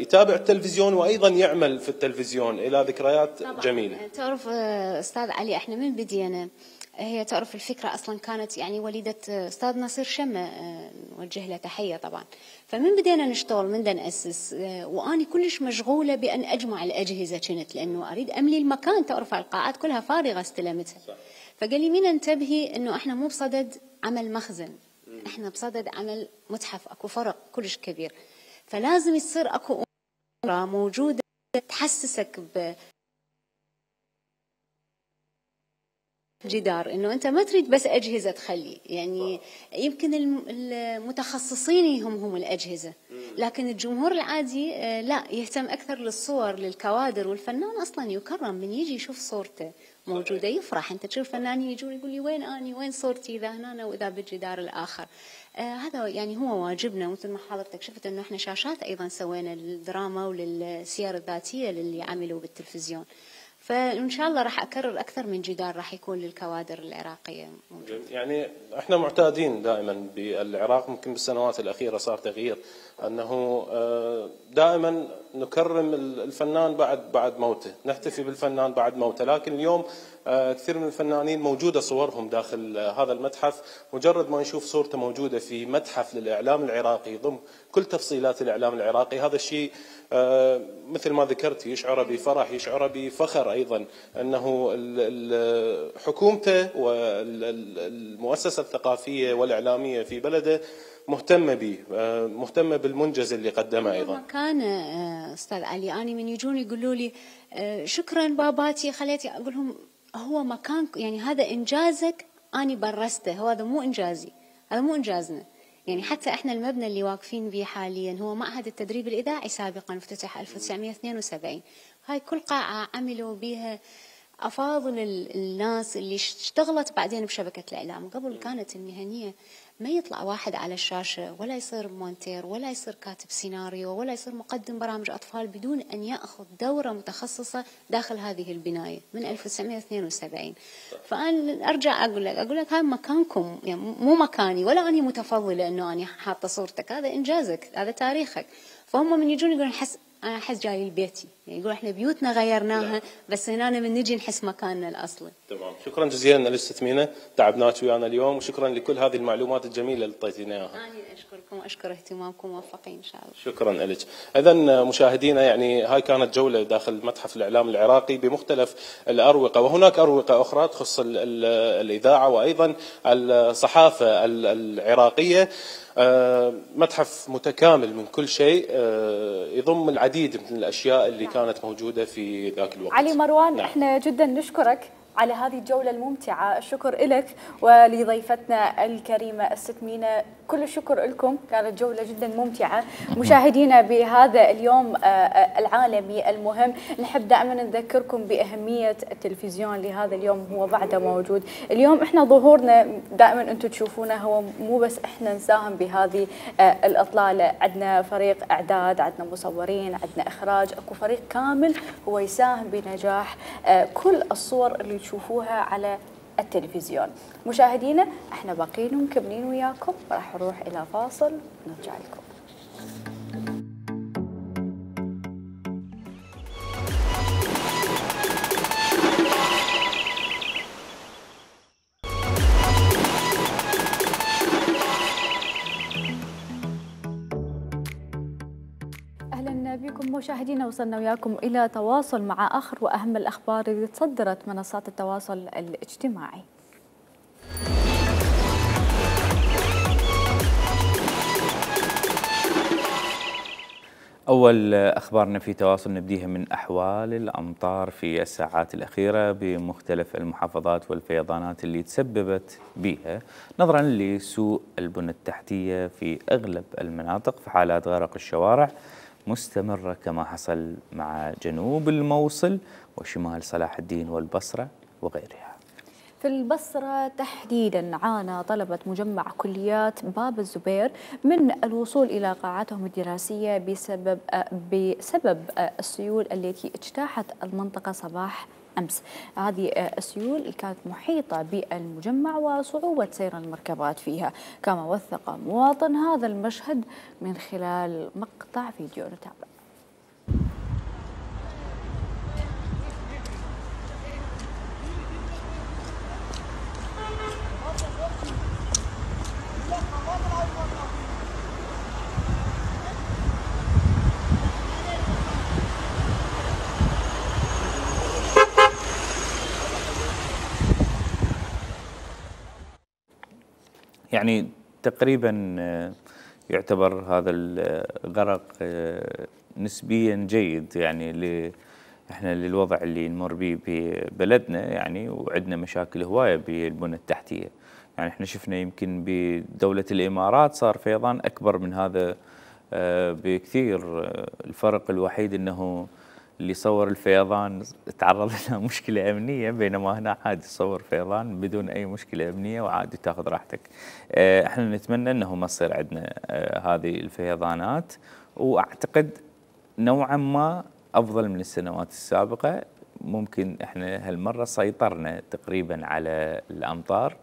Speaker 4: يتابع التلفزيون وأيضا يعمل في التلفزيون إلى ذكريات جميلة.
Speaker 5: تعرف أستاذ علي، احنا من بدينا هي تعرف الفكرة أصلا كانت يعني وليدة أستاذ نصير شمة، نوجه له تحية طبعا. فمن بدينا نشتغل من دا نأسس، وأني كلش مشغولة بأن أجمع الأجهزة كنت، لأنه أريد أملي المكان. تعرف القاعات كلها فارغة استلمتها. فقال لي مين انتبهي أنه احنا مو بصدد عمل مخزن، احنا بصدد عمل متحف، أكو فرق كلش كبير. فلازم يصير أكو أمور موجودة تحسسك جدار، انه انت ما تريد بس اجهزه تخلي، يعني يمكن المتخصصين هم الاجهزه، لكن الجمهور العادي لا، يهتم اكثر للصور، للكوادر. والفنان اصلا يكرم من يجي يشوف صورته موجوده يفرح. انت تشوف فنانين يجون يقول لي وين اني، وين صورتي اذا هنا واذا بالجدار الاخر. هذا يعني هو واجبنا. مثل ما حضرتك شفت انه احنا شاشات ايضا سوينا للدراما وللسير الذاتيه للي عملوا بالتلفزيون. فإن شاء الله راح أكرر أكثر من جدار راح يكون للكوادر العراقية موجود.
Speaker 4: يعني احنا معتادين دائما بالعراق، ممكن بالسنوات الأخيرة صار تغيير، أنه دائما نكرم الفنان بعد موته، نحتفي بالفنان بعد موته. لكن اليوم كثير من الفنانين موجودة صورهم داخل هذا المتحف، مجرد ما نشوف صورته موجودة في متحف للإعلام العراقي ضم كل تفصيلات الإعلام العراقي، هذا الشيء مثل ما ذكرت يشعر بفرح، يشعر بفخر أيضا أنه حكومته والمؤسسة الثقافية والإعلامية في بلده مهتمة به، مهتمة بالمنجز اللي قدمه أيضا.
Speaker 5: كان أستاذ علي أنا من يجون يقولوا لي شكرا باباتي خليتي، أقول لهم هو مكان، يعني هذا إنجازك أنا برسته، هذا مو إنجازي، هذا مو إنجازنا. يعني حتى احنا المبنى اللي واقفين به حاليا هو معهد التدريب الإذاعي، سابقا افتتح 1972. هاي كل قاعة عملوا بها أفاضل الناس اللي اشتغلت بعدين بشبكة الإعلام. قبل كانت المهنية ما يطلع واحد على الشاشة ولا يصير مونتير ولا يصير كاتب سيناريو ولا يصير مقدم برامج أطفال بدون أن يأخذ دورة متخصصة داخل هذه البناية من 1972. فأنا أرجع أقول لك هاي مكانكم، يعني مو مكاني، ولا أني متفضلة أنه أنا حاطة صورتك، هذا إنجازك، هذا تاريخك. فهم من يجون يقولون أنا أحس جاي لبيتي، يعني يقول إحنا بيوتنا غيرناها بس هنا من نجي نحس مكاننا الأصلي.
Speaker 4: تمام، شكرا جزيلا للست ثمينة، تعبناك ويانا اليوم، وشكرا لكل هذه المعلومات الجميلة اللي اعطيتينا اياها.
Speaker 5: أنا أشكركم وأشكر اهتمامكم، موفقين إن شاء الله.
Speaker 4: شكرا لك. إذا مشاهدينا، يعني هاي كانت جولة داخل متحف الإعلام العراقي بمختلف الأروقة، وهناك أروقة أخرى تخص الإذاعة وأيضا الصحافة العراقية. متحف متكامل من كل شيء، يضم العديد من الأشياء اللي كانت موجودة في ذاك الوقت.
Speaker 1: علي مروان، احنا جدا نشكرك على هذه الجولة الممتعة. الشكر لك ولضيفتنا الكريمة الست مينا، كل الشكر لكم، كانت جولة جدا ممتعة. مشاهدينا بهذا اليوم العالمي المهم، نحب دائما نذكركم بأهمية التلفزيون لهذا اليوم، هو بعده موجود. اليوم احنا ظهورنا دائما انتم تشوفونه، هو مو بس احنا نساهم بهذه الإطلالة، عندنا فريق إعداد، عندنا مصورين، عندنا إخراج، اكو فريق كامل هو يساهم بنجاح كل الصور اللي تشوفوها على التلفزيون. مشاهدينا احنا باقيين ومكملين وياكم، راح نروح الى فاصل ونرجع لكم. بكم مشاهدينا، وصلنا وياكم إلى تواصل مع آخر وأهم الأخبار اللي تصدرت منصات التواصل الاجتماعي.
Speaker 2: أول أخبارنا في تواصل نبديها من أحوال الأمطار في الساعات الأخيرة بمختلف المحافظات والفيضانات اللي تسببت بها نظرا لسوء البنى التحتية في أغلب المناطق، في حالات غرق الشوارع مستمرة كما حصل مع جنوب الموصل وشمال صلاح الدين والبصرة وغيرها.
Speaker 1: في البصرة تحديدا عانى طلبة مجمع كليات باب الزبير من الوصول إلى قاعاتهم الدراسية بسبب السيول التي اجتاحت المنطقة صباح أمس. هذه السيول كانت محيطة بالمجمع وصعوبة سير المركبات فيها، كما وثق مواطن هذا المشهد من خلال مقطع فيديو نتابع.
Speaker 2: يعني تقريبا يعتبر هذا الغرق نسبيا جيد يعني احنا للوضع اللي نمر به ببلدنا يعني، وعندنا مشاكل هوايه بالبنى التحتيه. يعني احنا شفنا يمكن بدوله الامارات صار فيضان اكبر من هذا بكثير. الفرق الوحيد انه اللي صور الفيضان تعرض لها مشكلة أمنية، بينما هنا عادي تصور فيضان بدون أي مشكلة أمنية وعادي تاخذ راحتك. احنا نتمنى أنه ما تصير عندنا هذه الفيضانات، وأعتقد نوعا ما أفضل من السنوات السابقة. ممكن احنا هالمرة سيطرنا تقريبا على الأمطار،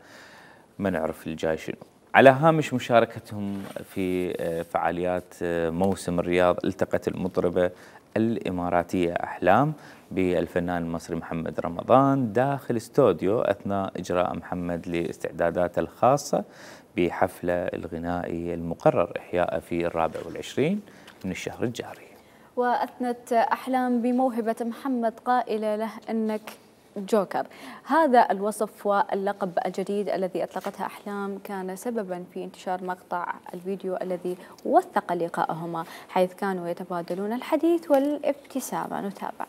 Speaker 2: ما نعرف الجاي شنو. على هامش مشاركتهم في فعاليات موسم الرياض، التقت المطربة الإماراتية أحلام بالفنان المصري محمد رمضان داخل استوديو أثناء إجراء محمد لاستعداداته الخاصة بحفله الغنائي المقرر إحياءه في 24 من الشهر الجاري.
Speaker 1: وأثنت أحلام بموهبة محمد قائلة له أنك جوكر. هذا الوصف واللقب الجديد الذي أطلقتها أحلام كان سببا في انتشار مقطع الفيديو الذي وثق لقاءهما، حيث كانوا يتبادلون الحديث والابتسامة. نتابع.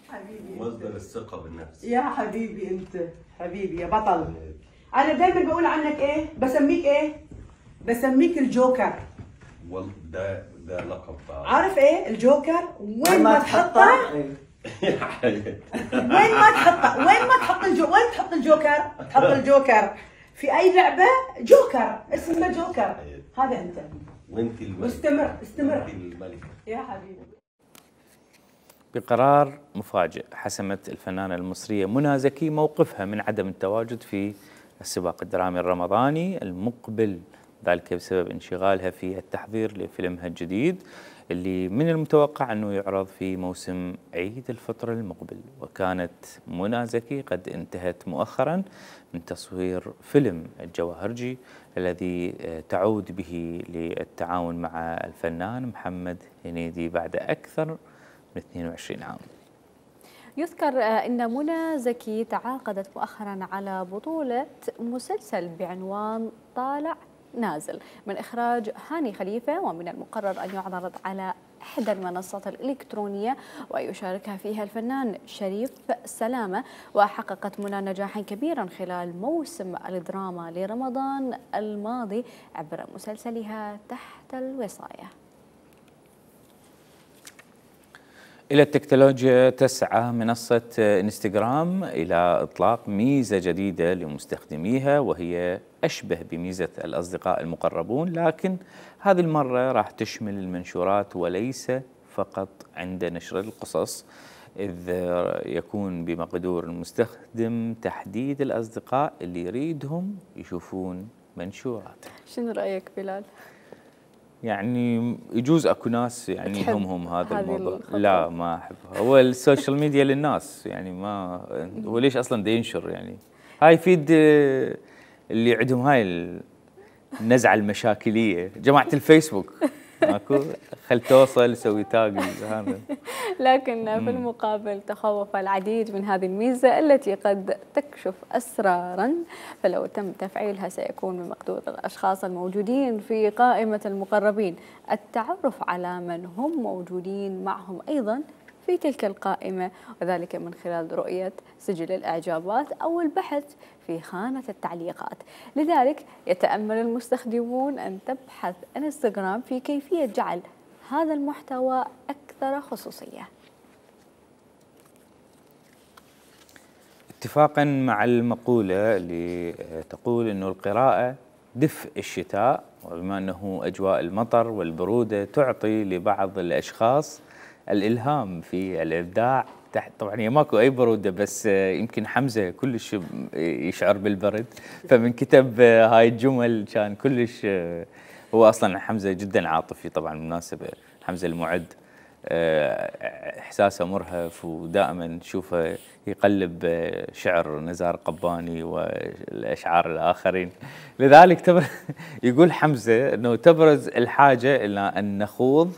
Speaker 6: حبيبي مصدر الثقة بالنفس
Speaker 7: يا حبيبي، انت حبيبي يا بطل. انا دايما بقول عنك ايه؟ بسميك ايه؟ بسميك الجوكر.
Speaker 6: والله ده لقب.
Speaker 7: عارف ايه الجوكر؟ وين ما تحطه وين ما تحطه، وين تحط الجوكر؟ تحط الجوكر في اي لعبه. جوكر اسمه جوكر. هذا انت.
Speaker 6: وانت الملكه.
Speaker 7: استمر
Speaker 6: وانت الملكه
Speaker 7: يا حبيبي.
Speaker 2: بقرار مفاجئ حسمت الفنانة المصرية منى زكي موقفها من عدم التواجد في السباق الدرامي الرمضاني المقبل، ذلك بسبب انشغالها في التحضير لفيلمها الجديد اللي من المتوقع أنه يعرض في موسم عيد الفطر المقبل. وكانت منى زكي قد انتهت مؤخرا من تصوير فيلم الجواهرجي الذي تعود به للتعاون مع الفنان محمد هنيدي بعد أكثر من 22 عام.
Speaker 1: يذكر أن منى زكي تعاقدت مؤخرا على بطولة مسلسل بعنوان طالع نازل من إخراج هاني خليفة، ومن المقرر أن يعرض على إحدى المنصات الإلكترونية ويشاركها فيها الفنان شريف سلامة. وحققت منى نجاحا كبيرا خلال موسم الدراما لرمضان الماضي عبر مسلسلها تحت الوصاية.
Speaker 2: إلى التكنولوجيا، تسعى منصة انستغرام إلى إطلاق ميزة جديدة لمستخدميها، وهي أشبه بميزة الأصدقاء المقربون، لكن هذه المرة راح تشمل المنشورات وليس فقط عند نشر القصص، إذ يكون بمقدور المستخدم تحديد الأصدقاء اللي يريدهم يشوفون منشوراته.
Speaker 1: شنو رأيك بلال؟
Speaker 2: يعني يجوز اكو ناس يعني يهمهم هذا الموضوع. لا ما احبها. هو السوشيال ميديا للناس يعني، ما هو ليش اصلا دا ينشر يعني؟ هاي يفيد اللي عندهم هاي النزعه المشاكليه، جماعه الفيسبوك ماكو خل توصل سوي تاج هذا.
Speaker 1: لكن في المقابل تخوف العديد من هذه الميزة التي قد تكشف أسرارا، فلو تم تفعيلها سيكون من مقدور الأشخاص الموجودين في قائمة المقربين التعرف على من هم موجودين معهم أيضا في تلك القائمة، وذلك من خلال رؤية سجل الإعجابات أو البحث في خانة التعليقات. لذلك يتأمل المستخدمون أن تبحث انستغرام في كيفية جعل هذا المحتوى أكثر خصوصية.
Speaker 2: اتفاقا مع المقولة اللي تقول أنه القراءة دفء الشتاء، وبما أنه أجواء المطر والبرودة تعطي لبعض الأشخاص الإلهام في الإبداع، تحت طبعا هي ماكو اي بروده، بس يمكن حمزه كلش يشعر بالبرد، فمن كتب هاي الجمل كان كلش. هو اصلا حمزه جدا عاطفي طبعا، بالمناسبه حمزه المعد احساسه مرهف، ودائما نشوفه يقلب شعر نزار قباني والاشعار الاخرين. لذلك يقول حمزه انه تبرز الحاجه الى ان نخوض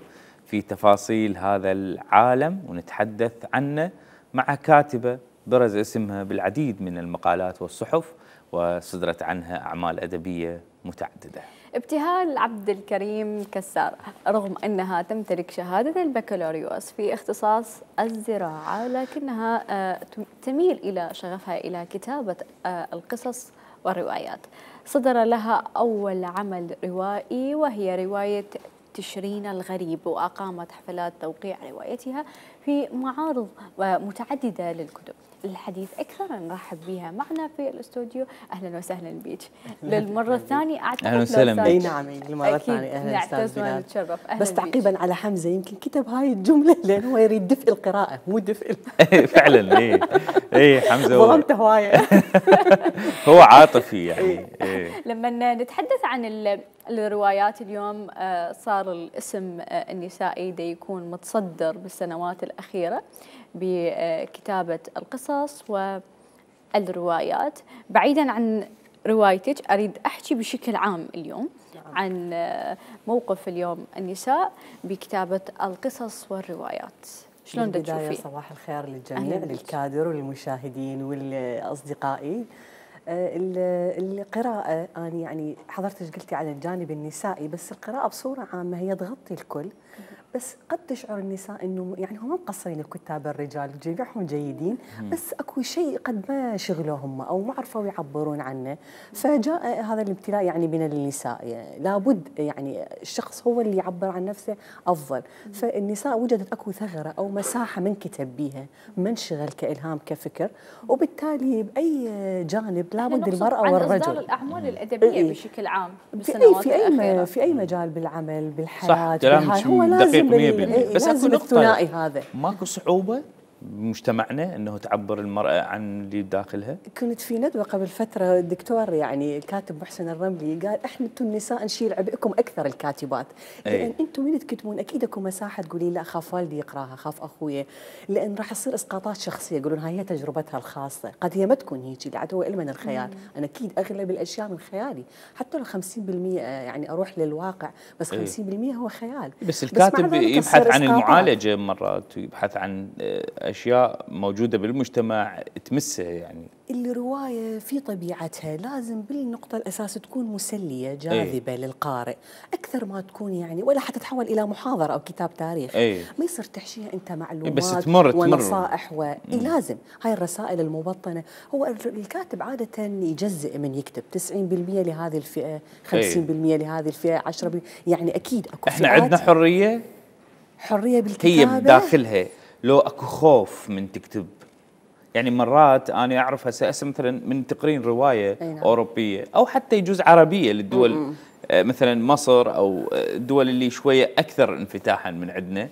Speaker 2: في تفاصيل هذا العالم ونتحدث عنه مع كاتبه برز اسمها بالعديد من المقالات والصحف، وصدرت عنها اعمال ادبيه متعدده.
Speaker 1: ابتهال عبد الكريم كسار، رغم أنها تمتلك شهادة البكالوريوس في اختصاص الزراعة، لكنها تميل إلى شغفها إلى كتابة القصص والروايات. صدر لها أول عمل روائي وهي رواية تشرين الغريب، وأقامت حفلات توقيع روايتها في معارض متعددة للكتب. الحديث أكثر نرحب بها معنا في الاستوديو. أهلا وسهلا بك للمرة الثانية. أعتقد
Speaker 2: أهلا وسهلا
Speaker 8: اي نعم للمرة الثانية.
Speaker 1: أهلا نعتز ونتشرف.
Speaker 8: بس تعقيبا على حمزة، يمكن كتب هاي الجملة لأن هو يريد دفء القراءة مو دفء
Speaker 2: فعلا اي حمزة
Speaker 8: ظلمته هواية.
Speaker 2: هو عاطفي يعني.
Speaker 1: لما نتحدث عن الروايات اليوم، صار الاسم النسائي دا يكون متصدر بالسنوات الأخيرة بكتابة القصص والروايات. بعيدا عن روايتك، أريد أحكي بشكل عام اليوم عن موقف اليوم النساء بكتابة القصص والروايات. شلون دا تشوفين؟
Speaker 8: صباح الخير للجميع، للكادر وللمشاهدين والأصدقائي. القراءة أنا يعني حضرتك قلتي على الجانب النسائي، بس القراءة بصورة عامة هي تغطي الكل. بس قد تشعر النساء انه يعني هم مقصرين الكتاب الرجال، جميعهم جيدين، بس اكو شيء قد ما شغلوهم او ما عرفوا يعبرون عنه، فجاء هذا الامتلاء يعني من النساء. يعني لابد يعني الشخص هو اللي يعبر عن نفسه افضل. فالنساء وجدت اكو ثغره او مساحه من كتب بيها، منشغل كالهام كفكر، وبالتالي باي جانب لابد المراه والرجل.
Speaker 1: عن اصدار الاعمال الادبيه بشكل عام بالسنوات الاخيره
Speaker 8: في اي مجال بالعمل بالحياه.
Speaker 2: صح،
Speaker 8: هو لازم
Speaker 2: بس اكو
Speaker 8: الثنائي هذا.
Speaker 2: ماكو صعوبه بمجتمعنا انه تعبر المراه عن اللي بداخلها؟
Speaker 8: كنت في ندوه قبل فتره، الدكتور يعني الكاتب محسن الرملي قال احنا انتم النساء نشيل عبئكم اكثر الكاتبات، لان انتم من تكتبون اكيد اكو مساحه تقولين لا خاف والدي يقراها، خاف اخويا، لان راح تصير اسقاطات شخصيه، يقولون هاي هي تجربتها الخاصه، قد هي ما تكون هيك، اللي عاد هو علم من الخيال. انا اكيد اغلب الاشياء من خيالي، حتى لو 50% يعني اروح للواقع، بس 50% هو خيال.
Speaker 2: بس الكاتب يبحث عن المعالجه مرات، ويبحث عن اشياء موجوده بالمجتمع تمسه. يعني
Speaker 8: الروايه في طبيعتها لازم بالنقطه الاساس تكون مسليه جاذبه للقارئ اكثر ما تكون يعني، ولا حتتحول الى محاضره او كتاب تاريخ. ما يصير تحشيها انت معلومات
Speaker 2: بس تمر
Speaker 8: ونصائح لازم هاي الرسائل المبطنه. هو الكاتب عاده يجزئ من يكتب 90% لهذه الفئه، 50% لهذه الفئه، 10%. يعني اكيد اكو
Speaker 2: احنا عندنا حريه
Speaker 8: بالكتابه،
Speaker 2: هي بداخلها. لو اكو خوف من تكتب، يعني مرات انا اعرف هسه مثلا من تقرين روايه اوروبيه او حتى يجوز عربيه للدول مثلا مصر او الدول اللي شويه اكثر انفتاحا من عندنا،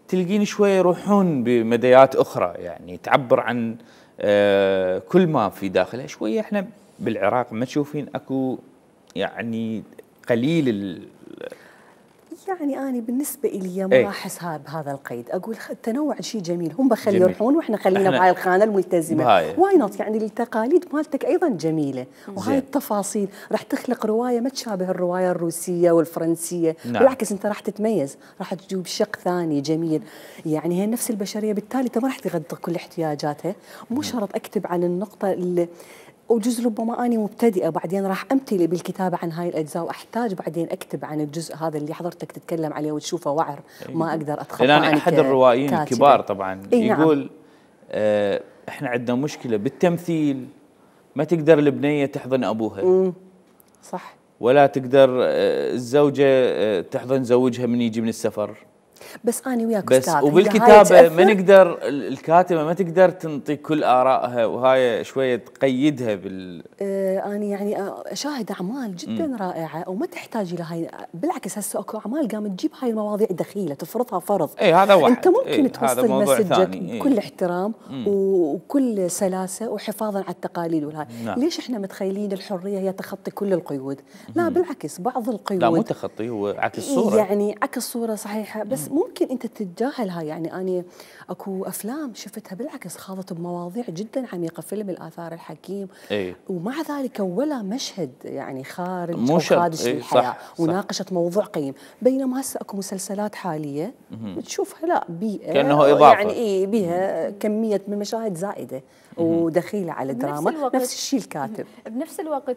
Speaker 2: تلقين شويه يروحون بمديات اخرى يعني تعبر عن كل ما في داخلها. شويه احنا بالعراق ما تشوفين اكو يعني قليل
Speaker 8: يعني أنا بالنسبة إلي ما أحسها بهذا القيد. أقول التنوع شيء جميل، هم بخلي يروحون وإحنا خلينا بهاي الخانة الملتزمة. واي نوت، يعني التقاليد مالتك أيضا جميلة، وهاي التفاصيل راح تخلق رواية ما تشابه الرواية الروسية والفرنسية. بالعكس أنت راح تتميز، راح تجيب شق ثاني جميل. يعني هي نفس البشرية، بالتالي أنت ما راح تغطي كل احتياجاتها. مو شرط أكتب عن النقطة اللي وجزء ربما أنا مبتدئة، بعدين راح أمتلي بالكتابة عن هاي الأجزاء، وأحتاج بعدين أكتب عن الجزء هذا اللي حضرتك تتكلم عليه وتشوفه وعر ما أقدر أتخطى.
Speaker 2: لأن أحد الروائيين الكبار طبعا يقول إحنا عندنا مشكلة بالتمثيل، ما تقدر البنية تحضن أبوها.
Speaker 8: صح.
Speaker 2: ولا تقدر الزوجة تحضن زوجها من يجي من السفر.
Speaker 8: بس انا وياك
Speaker 2: بس
Speaker 8: استاذ،
Speaker 2: وبالكتابه ما نقدر، الكاتبه ما تقدر تنطي كل ارائها، وهاي شويه تقيدها بال
Speaker 8: انا يعني اشاهد اعمال جدا رائعه وما تحتاج الى هاي، بالعكس هسه اكو اعمال قامت تجيب هاي المواضيع دخيله تفرضها فرض.
Speaker 2: اي هذا واحد.
Speaker 8: انت ممكن توصل مسجك بكل احترام وكل سلاسه وحفاظا على التقاليد والهاي. نعم. ليش احنا متخيلين الحريه هي تخطي كل القيود؟ لا بالعكس، بعض القيود
Speaker 2: لا مو تخطي، هو عكس الصوره،
Speaker 8: يعني عكس الصوره صحيحه، بس ممكن انت تتجاهل هاي. يعني انا اكو افلام شفتها بالعكس خاضت بمواضيع جدا عميقه، فيلم الآثار الحكيم ومع ذلك ولا مشهد يعني خارج او خادش للحياه وناقشت موضوع قيم. بينما هسه اكو مسلسلات حاليه تشوفها لا بيئه
Speaker 2: كانه اضافه،
Speaker 8: يعني بيها كميه من مشاهد زائده ودخيله على الدراما. نفس الشيء الكاتب.
Speaker 1: بنفس الوقت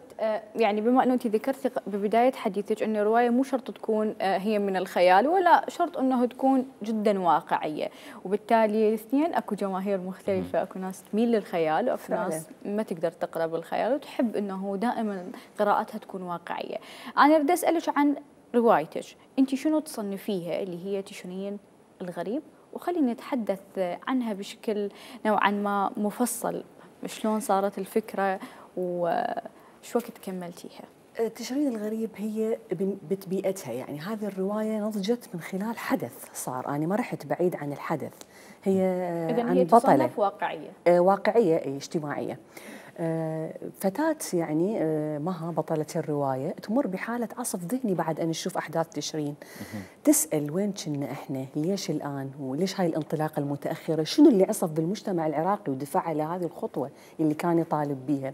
Speaker 1: يعني بما انه انت ذكرتي ببدايه حديثك انه الروايه مو شرط تكون هي من الخيال ولا شرط انه تكون جدا واقعيه، وبالتالي الاثنين اكو جماهير مختلفه، اكو ناس تميل للخيال واكو ناس ما تقدر تقرا بالخيال وتحب انه دائما قراءتها تكون واقعيه. انا بدي اسالك عن روايتك، انت شنو تصنفيها اللي هي تشرين الغريب؟ وخلينا نتحدث عنها بشكل نوعا ما مفصل، شلون صارت الفكرة وشو وقت كملتيها؟
Speaker 8: تشرين الغريب هي بيئتها، يعني هذه الرواية نضجت من خلال حدث صار، أنا ما رحت بعيد عن الحدث. هي عن بطلة
Speaker 1: واقعية،
Speaker 8: واقعية اجتماعية. فتاة يعني مها بطلة الرواية تمر بحالة عصف ذهني بعد أن نشوف أحداث تشرين. تسأل وين كنا إحنا؟ ليش الآن؟ وليش هاي الانطلاقة المتأخرة؟ شنو اللي عصف بالمجتمع العراقي ودفع على هذه الخطوة اللي كان يطالب بها؟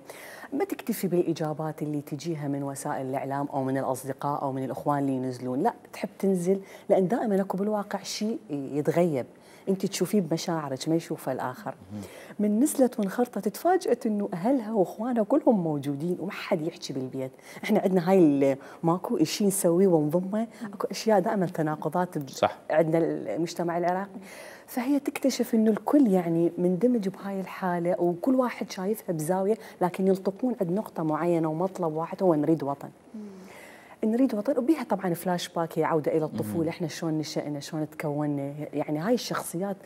Speaker 8: ما تكتفي بالإجابات اللي تجيها من وسائل الإعلام أو من الأصدقاء أو من الأخوان اللي ينزلون، لا تحب تنزل، لأن دائما أكو بالواقع شيء يتغيب انت تشوفيه بمشاعرك ما يشوفه الاخر. من نزلت وانخرطت تفاجئت انه اهلها واخوانها كلهم موجودين وما حد يحكي بالبيت. احنا عندنا هاي ماكو شيء نسويه ونضمه، اكو اشياء دائما تناقضات
Speaker 2: صح.
Speaker 8: عندنا المجتمع العراقي. فهي تكتشف انه الكل يعني مندمج بهاي الحاله وكل واحد شايفها بزاويه، لكن يلتقون عند نقطه معينه ومطلب واحد هو نريد وطن. نريد وطن، وبيها طبعا فلاش باك هي عوده الى الطفوله، احنا شلون نشأنا شلون تكوننا، يعني هاي الشخصيات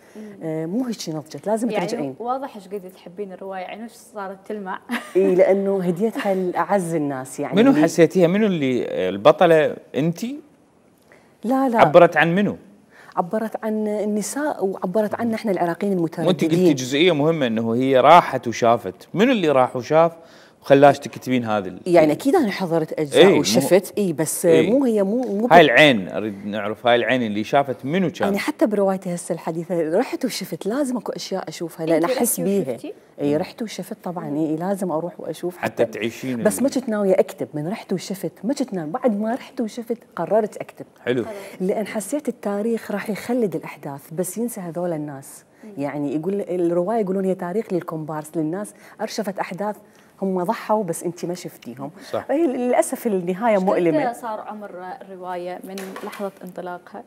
Speaker 8: مو هيك نضجت، لازم
Speaker 1: يعني
Speaker 8: ترجعين.
Speaker 1: واضح ايش قد تحبين الروايه، عينوش صارت تلمع.
Speaker 8: اي لانه هديتها لاعز الناس. يعني
Speaker 2: منو حسيتيها؟ منو اللي البطله؟ انت؟
Speaker 8: لا
Speaker 2: عبرت عن منو؟
Speaker 8: عبرت عن النساء وعبرت عنا احنا العراقيين المترددين.
Speaker 2: وانت قلتي جزئيه مهمه انه هي راحت وشافت، منو اللي راح وشاف وخلاش تكتبين هذا
Speaker 8: يعني اكيد انا حضرت اجزاء وشفت بس مو هي مو
Speaker 2: هاي العين، اريد نعرف هاي العين اللي شافت منو كان.
Speaker 8: يعني حتى بروايتي هسه الحديثه رحت وشفت، لازم اكو اشياء اشوفها لان احس بيها. اي رحت وشفت طبعا، اي لازم اروح واشوف
Speaker 2: حتى تعيشين،
Speaker 8: بس ما كنت ناويه اكتب. من رحت وشفت ما كنت ناويه، بعد ما رحت وشفت قررت اكتب.
Speaker 2: حلو.
Speaker 8: لان حسيت التاريخ راح يخلد الاحداث بس ينسى هذول الناس. يعني يقول الروايه يقولون هي تاريخ للكومبارس، للناس ارشفت احداث هم ضحوا بس انت ما شفتيهم.
Speaker 2: صح.
Speaker 8: هي للاسف النهايه مؤلمه.
Speaker 1: صار عمر الروايه من لحظه انطلاقها؟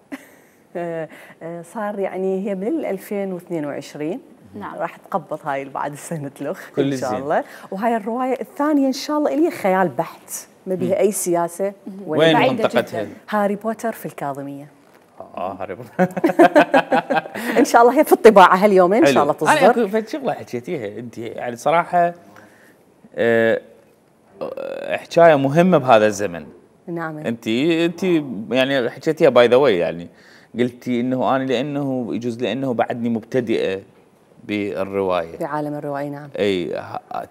Speaker 8: صار يعني هي من 2022.
Speaker 1: نعم.
Speaker 8: راح تقبض هاي بعد سنه الاخ
Speaker 2: ان
Speaker 8: شاء الله. وهاي الروايه الثانيه ان شاء الله اللي خيال بحت، ما بها اي سياسه.
Speaker 2: وين منطقتها؟
Speaker 8: هاري بوتر في الكاظميه.
Speaker 2: هاري بوتر.
Speaker 8: ان شاء الله هي في الطباعه هاليومين ان شاء الله تصدر.
Speaker 2: انا في شغله حكيتيها انت يعني صراحه حكايه مهمه بهذا الزمن.
Speaker 8: نعم.
Speaker 2: انت يعني حكيتيها باي ذا واي، يعني قلتي انه انا لانه يجوز لانه بعدني مبتدئه بالروايه،
Speaker 8: بعالم الروايه. نعم.
Speaker 2: اي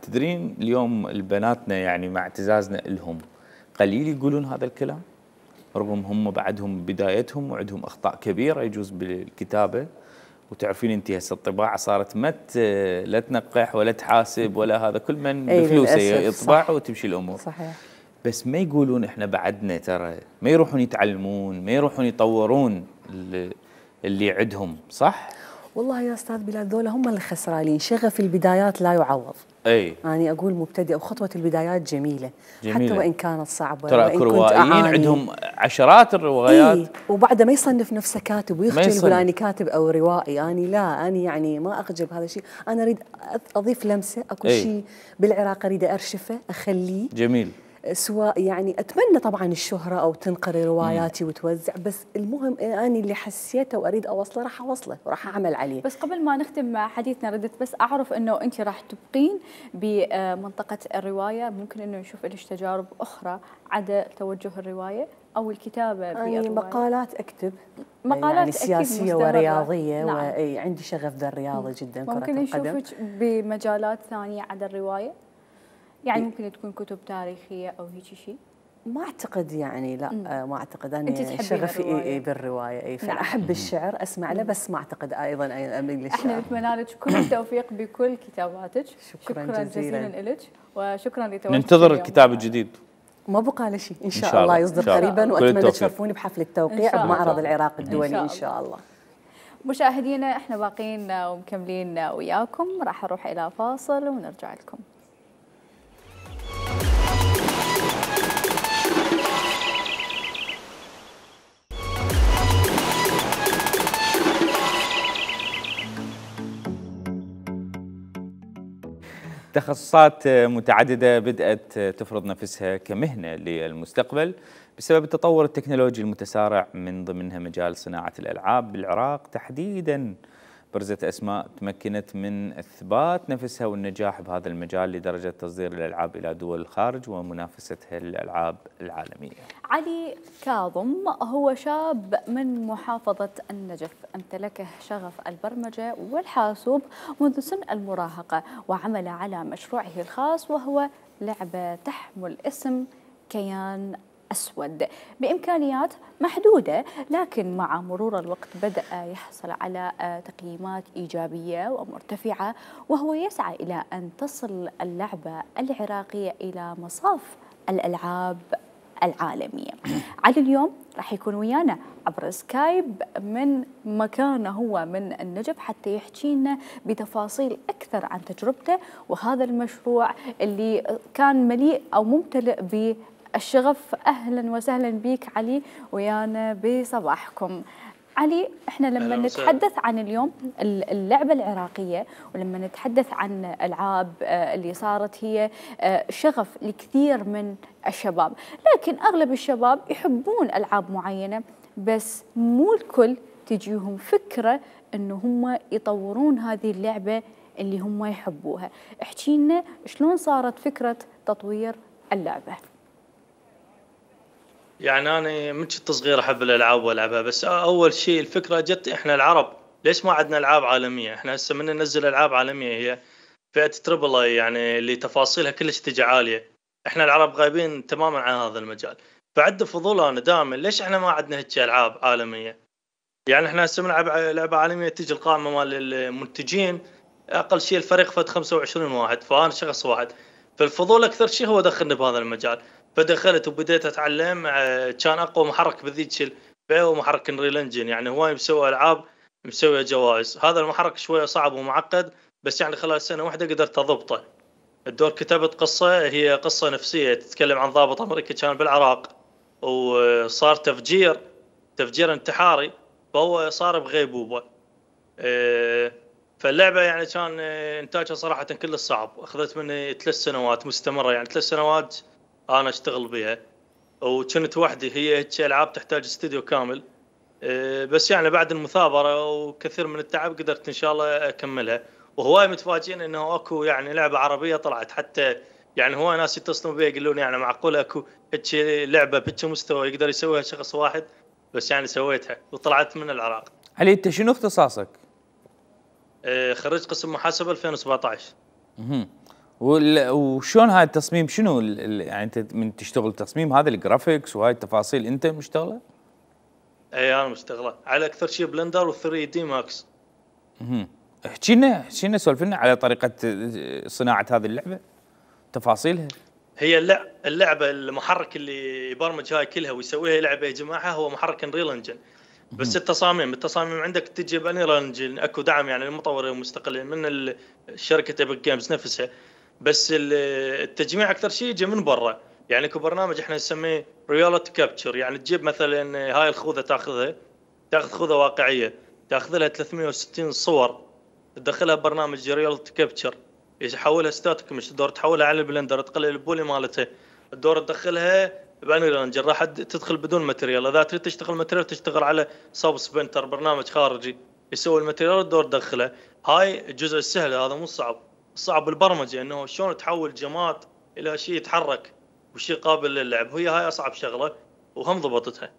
Speaker 2: تدرين اليوم البناتنا يعني مع اعتزازنا لهم قليل يقولون هذا الكلام، رغم هم بعدهم بدايتهم وعندهم اخطاء كبيره يجوز بالكتابه. وتعرفين انت هسه الطباعه صارت لا تنقح ولا تحاسب ولا هذا، كل من بفلوسه يطبع وتمشي الامور.
Speaker 8: صحيح.
Speaker 2: بس ما يقولون احنا بعدنا، ترى ما يروحون يتعلمون، ما يروحون يطورون اللي عندهم. صح؟
Speaker 8: والله يا استاذ بلال ذولا هم الخسرانين، شغف البدايات لا يعوض.
Speaker 2: اي
Speaker 8: يعني اقول مبتدئ وخطوه البدايات جميله
Speaker 2: جميلة.
Speaker 8: حتى وان كانت صعبه.
Speaker 2: ترى اكو روائيين عندهم عشرات الروايات.
Speaker 8: إيه؟ وبعده ما يصنف نفسه كاتب ويخجل يقول اني كاتب او روائي. اني لا، اني يعني ما اخجل بهذا الشيء، انا اريد اضيف لمسه. اكو شيء بالعراق اريد ارشفه اخليه
Speaker 2: جميل.
Speaker 8: سواء يعني اتمنى طبعا الشهره او تنقري رواياتي وتوزع، بس المهم اني اللي حسيته واريد اوصله راح اوصله وراح اعمل عليه.
Speaker 1: بس قبل ما نختم حديثنا ردت بس اعرف انه انت راح تبقين بمنطقه الروايه، ممكن انه نشوف لك تجارب اخرى عدا توجه الروايه او الكتابه
Speaker 8: يعني مقالات اكتب،
Speaker 1: مقالات
Speaker 8: يعني سياسيه ورياضيه،
Speaker 1: نعم.
Speaker 8: وعندي شغف ذا الرياضه جدا.
Speaker 1: ممكن نشوفك بمجالات ثانيه عدا الروايه، يعني ممكن تكون كتب تاريخيه او هيك شيء؟
Speaker 8: ما اعتقد يعني، لا ما اعتقد. انا شغفي بالروايه فانا احب الشعر اسمع له، بس ما اعتقد ايضا اميل للشعر.
Speaker 1: احنا نتمنى لك كل التوفيق بكل كتاباتك.
Speaker 8: شكرا
Speaker 1: جزيلا لك وشكرا لتواجدك.
Speaker 2: ننتظر الكتاب الجديد.
Speaker 8: ما بقى له شيء، ان شاء الله يصدر قريبا، واتمنى تشرفوني بحفل التوقيع بمعرض العراق الدولي ان شاء الله.
Speaker 1: مشاهدينا احنا باقيين ومكملين وياكم، راح اروح الى فاصل ونرجع لكم.
Speaker 2: تخصصات متعددة بدأت تفرض نفسها كمهنة للمستقبل بسبب التطور التكنولوجي المتسارع، من ضمنها مجال صناعة الألعاب بالعراق تحديداً. برزت أسماء تمكنت من إثبات نفسها والنجاح بهذا المجال لدرجة تصدير الألعاب إلى دول الخارج ومنافستها للألعاب العالمية.
Speaker 1: علي كاظم هو شاب من محافظة النجف، امتلكه شغف البرمجة والحاسوب منذ سن المراهقة، وعمل على مشروعه الخاص وهو لعبة تحمل اسم كيان أسود بإمكانيات محدودة، لكن مع مرور الوقت بدأ يحصل على تقييمات إيجابية ومرتفعة، وهو يسعى إلى أن تصل اللعبة العراقية إلى مصاف الألعاب العالمية. علي اليوم راح يكون ويانا عبر سكايب من مكانه هو من النجف حتى يحكي لنا بتفاصيل أكثر عن تجربته وهذا المشروع اللي كان مليء أو ممتلئ بالشغف. أهلا وسهلا بك علي ويانا بصباحكم. علي، احنا لما نتحدث عن اليوم اللعبة العراقية ولما نتحدث عن ألعاب اللي صارت هي شغف لكثير من الشباب، لكن أغلب الشباب يحبون ألعاب معينة، بس مو الكل تجيهم فكرة أنه هم يطورون هذه اللعبة اللي هم يحبوها. احكي لنا شلون صارت فكرة تطوير اللعبة؟
Speaker 9: يعني أنا من كنت صغير أحب الألعاب وألعبها، بس أول شيء الفكرة جت إحنا العرب ليش ما عندنا ألعاب عالمية؟ إحنا هسه من ننزل ألعاب عالمية هي فئة تريبل اي، يعني اللي تفاصيلها كلش تجي عالية. إحنا العرب غايبين تماما عن هذا المجال، فعد فضول أنا دائما ليش إحنا ما عندنا هيك ألعاب عالمية؟ يعني إحنا هسه بنلعب لعبة عالمية تجي القائمة مال المنتجين أقل شيء الفريق فد 25 واحد، فأنا شخص واحد، فالفضول أكثر شيء هو دخلني بهذا المجال. فدخلت وبديت اتعلم. كان اقوى محرك بذيك الفئه هو محرك انريل انجن، يعني هواي مسوي العاب مسوي جوائز. هذا المحرك شويه صعب ومعقد، بس يعني خلال سنه واحده قدرت اضبطه. الدور كتبت قصه، هي قصه نفسيه تتكلم عن ضابط امريكي كان بالعراق وصار تفجير انتحاري، فهو صار بغيبوبه. فاللعبه يعني كان انتاجها صراحه كل صعب، اخذت مني 3 سنوات مستمره، يعني 3 سنوات انا اشتغل بها، وكنت وحدي. هي هيك العاب تحتاج استوديو كامل، بس يعني بعد المثابره وكثير من التعب قدرت ان شاء الله اكملها. وهواي متفاجئين انه اكو يعني لعبه عربيه طلعت، حتى يعني هواي ناس يتصلون بي يقولون يعني معقول اكو هيك لعبه بهيك مستوى يقدر يسويها شخص واحد؟ بس يعني سويتها وطلعت من العراق.
Speaker 2: علي، انت شنو اختصاصك؟
Speaker 9: خريج قسم محاسبه 2017.
Speaker 2: وشون هاي التصميم؟ شنو يعني انت من تشتغل تصميم هذا الجرافيكس وهاي التفاصيل انت مشتغله؟
Speaker 9: اي انا مشتغله على اكثر شيء بلندر و3 دي ماكس.
Speaker 2: احكي لنا سولف لنا على طريقه صناعه هذه اللعبه، تفاصيلها.
Speaker 9: هي اللعبه المحرك اللي يبرمج هاي كلها ويسويها لعبه يجمعها هو محرك انريل انجن، بس التصاميم عندك تجي بانريل انجن، اكو دعم يعني للمطورين المستقلين من شركه ايبك جيمز نفسها، بس التجميع اكثر شيء يجي من برا. يعني اكو برنامج احنا نسميه رياليتي كابتشر، يعني تجيب مثلا هاي الخوذه تاخذ خوذه واقعيه، تاخذ لها 360 صور، تدخلها برنامج رياليتي كابتشر يحولها ستاتيك، مش تقدر تحولها على البلندر، تقلل البولي مالتها الدور تدخلها بانري راح تدخل بدون ماتريال. اذا تريد تشتغل ماتريال تشتغل على سب سبنتر برنامج خارجي يسوي الماتريال الدور تدخله. هاي الجزء السهل، هذا مو صعب. الصعب بالبرمجه انه شلون تحول جماد الى شيء يتحرك وشيء قابل للعب، وهي هاي اصعب شغله وهم ضبطتها.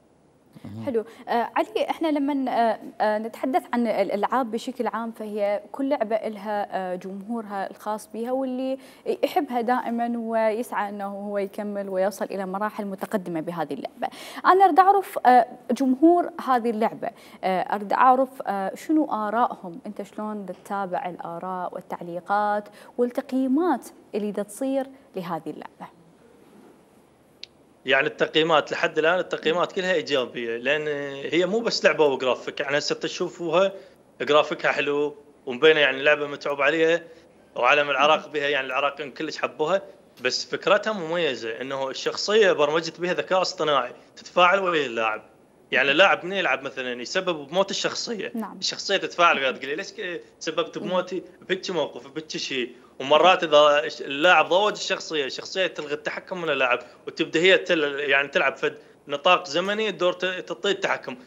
Speaker 1: حلو. علي، احنا لما نتحدث عن الالعاب بشكل عام فهي كل لعبه لها جمهورها الخاص بها واللي يحبها دائما ويسعى انه هو يكمل ويصل الى مراحل متقدمه بهذه اللعبه. انا اريد اعرف جمهور هذه اللعبه، اريد اعرف شنو ارائهم، انت شلون تتابع الاراء والتعليقات والتقييمات اللي تصير لهذه اللعبه؟
Speaker 9: يعني التقييمات لحد الان التقييمات كلها ايجابيه، لان هي مو بس لعبه وجرافيك. يعني هسه تشوفوها جرافيكها حلو ومبينه، يعني لعبه متعوب عليها وعالم العراق بها، يعني العراقيين كلش حبوها. بس فكرتها مميزه، انه الشخصيه برمجت بها ذكاء اصطناعي تتفاعل ويا اللاعب. يعني اللاعب من يلعب مثلا يسبب بموت الشخصيه،
Speaker 1: نعم.
Speaker 9: الشخصيه تتفاعل وياه تقول ليش سببت بموتي بهيك موقف بهيك شيء. ومرات اذا اللاعب ضوج الشخصيه تلغي التحكم من اللاعب وتبدا هي يعني تلعب في نطاق زمني الدور تعطيه التحكم.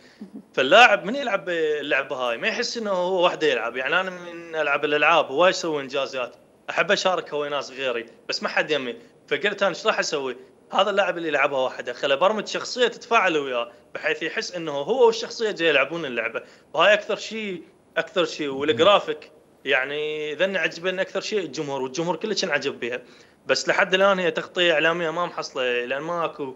Speaker 9: فاللاعب من يلعب اللعبه هاي ما يحس انه هو وحده يلعب. يعني انا من العب الالعاب هواي اسوي انجازات، احب اشاركها ويا ناس غيري بس ما حد يمي. فقلت انا ايش راح اسوي؟ هذا اللاعب اللي يلعبها وحده خله برمج شخصيه تتفاعل وياه بحيث يحس انه هو والشخصيه جاي يلعبون اللعبه. وهاي اكثر شيء والجرافيك يعني ذني عجبني اكثر شيء الجمهور، والجمهور كلش انعجب بها. بس لحد الان هي تغطيه اعلاميه ما محصله، لان ماكو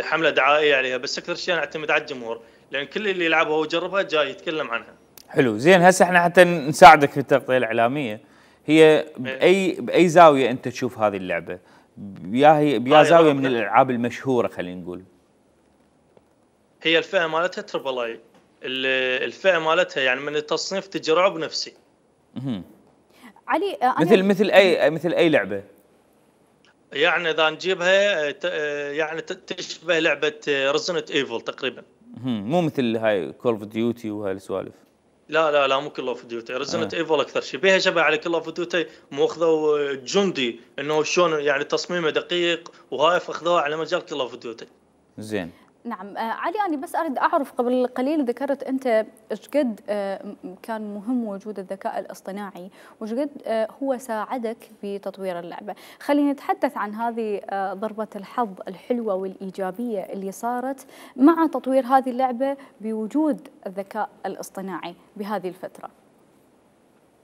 Speaker 9: حمله دعائيه عليها. بس اكثر شيء انا اعتمد على الجمهور، لان كل اللي يلعبها ويجربها جاي يتكلم عنها.
Speaker 2: حلو، زين. هسه احنا حتى نساعدك في التغطيه الاعلاميه، هي باي زاويه انت تشوف هذه اللعبه؟ بيا زاويه من الالعاب المشهوره خلينا نقول.
Speaker 9: هي الفئه مالتها تربل اي، الفئه مالتها يعني من التصنيف تجي رعب نفسي.
Speaker 1: علي،
Speaker 2: مثل اي لعبه؟
Speaker 9: يعني اذا نجيبها يعني تشبه لعبه ريزنت ايفل تقريبا.
Speaker 2: مو مثل هاي كول اوف ديوتي وهاي السوالف.
Speaker 9: لا مو كول اوف ديوتي، ريزنت ايفل اكثر شيء بها شبه على كول اوف ديوتي. ماخذوا جندي انه شلون يعني تصميمه دقيق، وهاي اخذوها على مجال كول اوف ديوتي.
Speaker 2: زين.
Speaker 1: نعم. علي، أنا بس أريد أعرف، قبل قليل ذكرت أنت إيش قد كان مهم وجود الذكاء الاصطناعي وإيش قد هو ساعدك بتطوير اللعبة. خلينا نتحدث عن هذه ضربة الحظ الحلوة والإيجابية اللي صارت مع تطوير هذه اللعبة بوجود الذكاء الاصطناعي بهذه الفترة.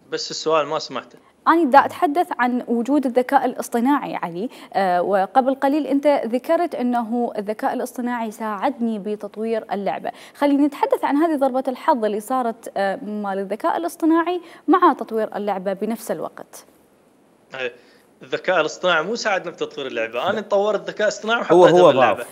Speaker 9: بس السؤال ما سمعته.
Speaker 1: أنا دا أتحدث عن وجود الذكاء الاصطناعي علي، وقبل قليل أنت ذكرت أنه الذكاء الاصطناعي ساعدني بتطوير اللعبة. خلينا نتحدث عن هذه ضربة الحظ اللي صارت مال الذكاء الاصطناعي مع تطوير اللعبة بنفس الوقت.
Speaker 9: الذكاء الاصطناعي مو ساعدنا في تطوير اللعبة، أنا طورت الذكاء الاصطناعي وحطيته باللعبة.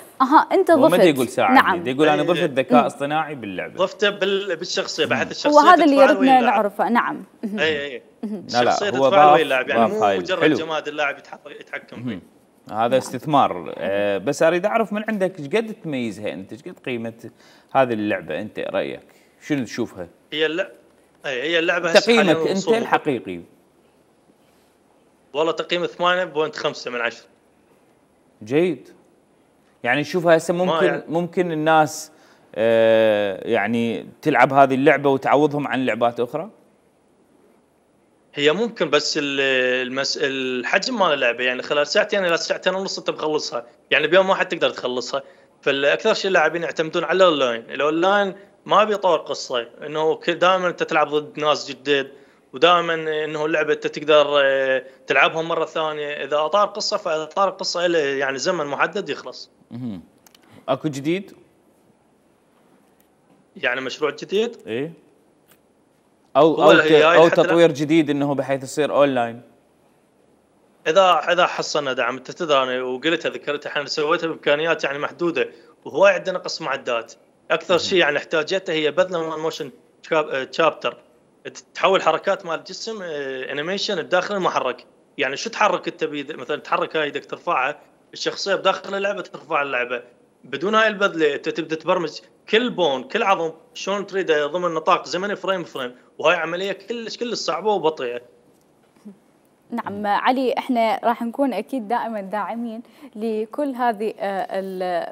Speaker 1: أنت ضفت.
Speaker 2: ما يقول ساعدني،
Speaker 1: نعم.
Speaker 2: يقول أنا ضفت الذكاء الاصطناعي باللعبة.
Speaker 9: ضفته بالشخصية بحيث الشخصية
Speaker 1: وهذا اللي يردنا نعرفه. نعم.
Speaker 9: اي الشخصية تتفاعل ويا اللاعب، يعني مو مجرد جماد اللاعب يتحكم فيه.
Speaker 2: هذا استثمار. بس أريد أعرف من عندك ايش قد تميزها أنت، ايش قد قيمة هذه اللعبة أنت، رأيك شنو تشوفها؟
Speaker 9: هي اللعبة
Speaker 2: تقييمك أنت الحقيقي.
Speaker 9: والله تقييم 8.5 من 10.
Speaker 2: جيد. يعني شوفها هسه ممكن الناس يعني تلعب هذه اللعبة وتعوضهم عن لعبات أخرى؟
Speaker 9: هي ممكن، بس الحجم مال اللعبة يعني خلال ساعتين إلى ساعتين ونص أنت بخلصها، يعني بيوم واحد تقدر تخلصها. فالأكثر شيء اللاعبين يعتمدون على الأونلاين ما بيطور قصة، إنه دائما أنت تلعب ضد ناس جديد، ودائما انه اللعبه انت تقدر تلعبها مره ثانيه. اذا اطار قصه فاطار القصه له يعني زمن محدد يخلص.
Speaker 2: اكو جديد؟
Speaker 9: يعني مشروع جديد؟
Speaker 2: ايه. او تطوير جديد انه بحيث يصير اونلاين.
Speaker 9: اذا حصلنا دعم. انت تدري انا وقلتها ذكرتها احنا سويتها بامكانيات يعني محدوده، وهو عندنا نقص معدات. اكثر شيء يعني احتاجته هي بذله من موشن تشابتر، تحول حركات مال الجسم انيميشن بداخل المحرك. يعني شو تحرك انت مثلا تحرك هاي يدك ترفعها الشخصيه بداخل اللعبه ترفع اللعبه بدون هاي البذله. انت تبدا تبرمج كل بون كل عظم شلون تريده ضمن نطاق زمني فريم. وهاي عمليه كلش صعبه وبطيئه.
Speaker 1: نعم علي، احنا راح نكون اكيد دائما داعمين لكل هذه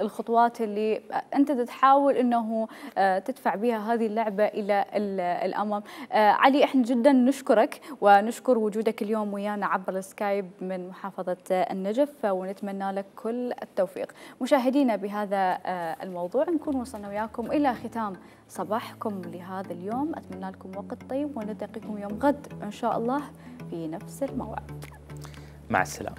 Speaker 1: الخطوات اللي انت تحاول انه تدفع بها هذه اللعبه الى الامام. علي، احنا جدا نشكرك ونشكر وجودك اليوم ويانا عبر السكايب من محافظه النجف، ونتمنى لك كل التوفيق. مشاهدينا، بهذا الموضوع نكون وصلنا وياكم الى ختام صباحكم لهذا اليوم. اتمنى لكم وقت طيب، ونلتقيكم يوم غد ان شاء الله في نفس الموعد.
Speaker 2: مع السلامة.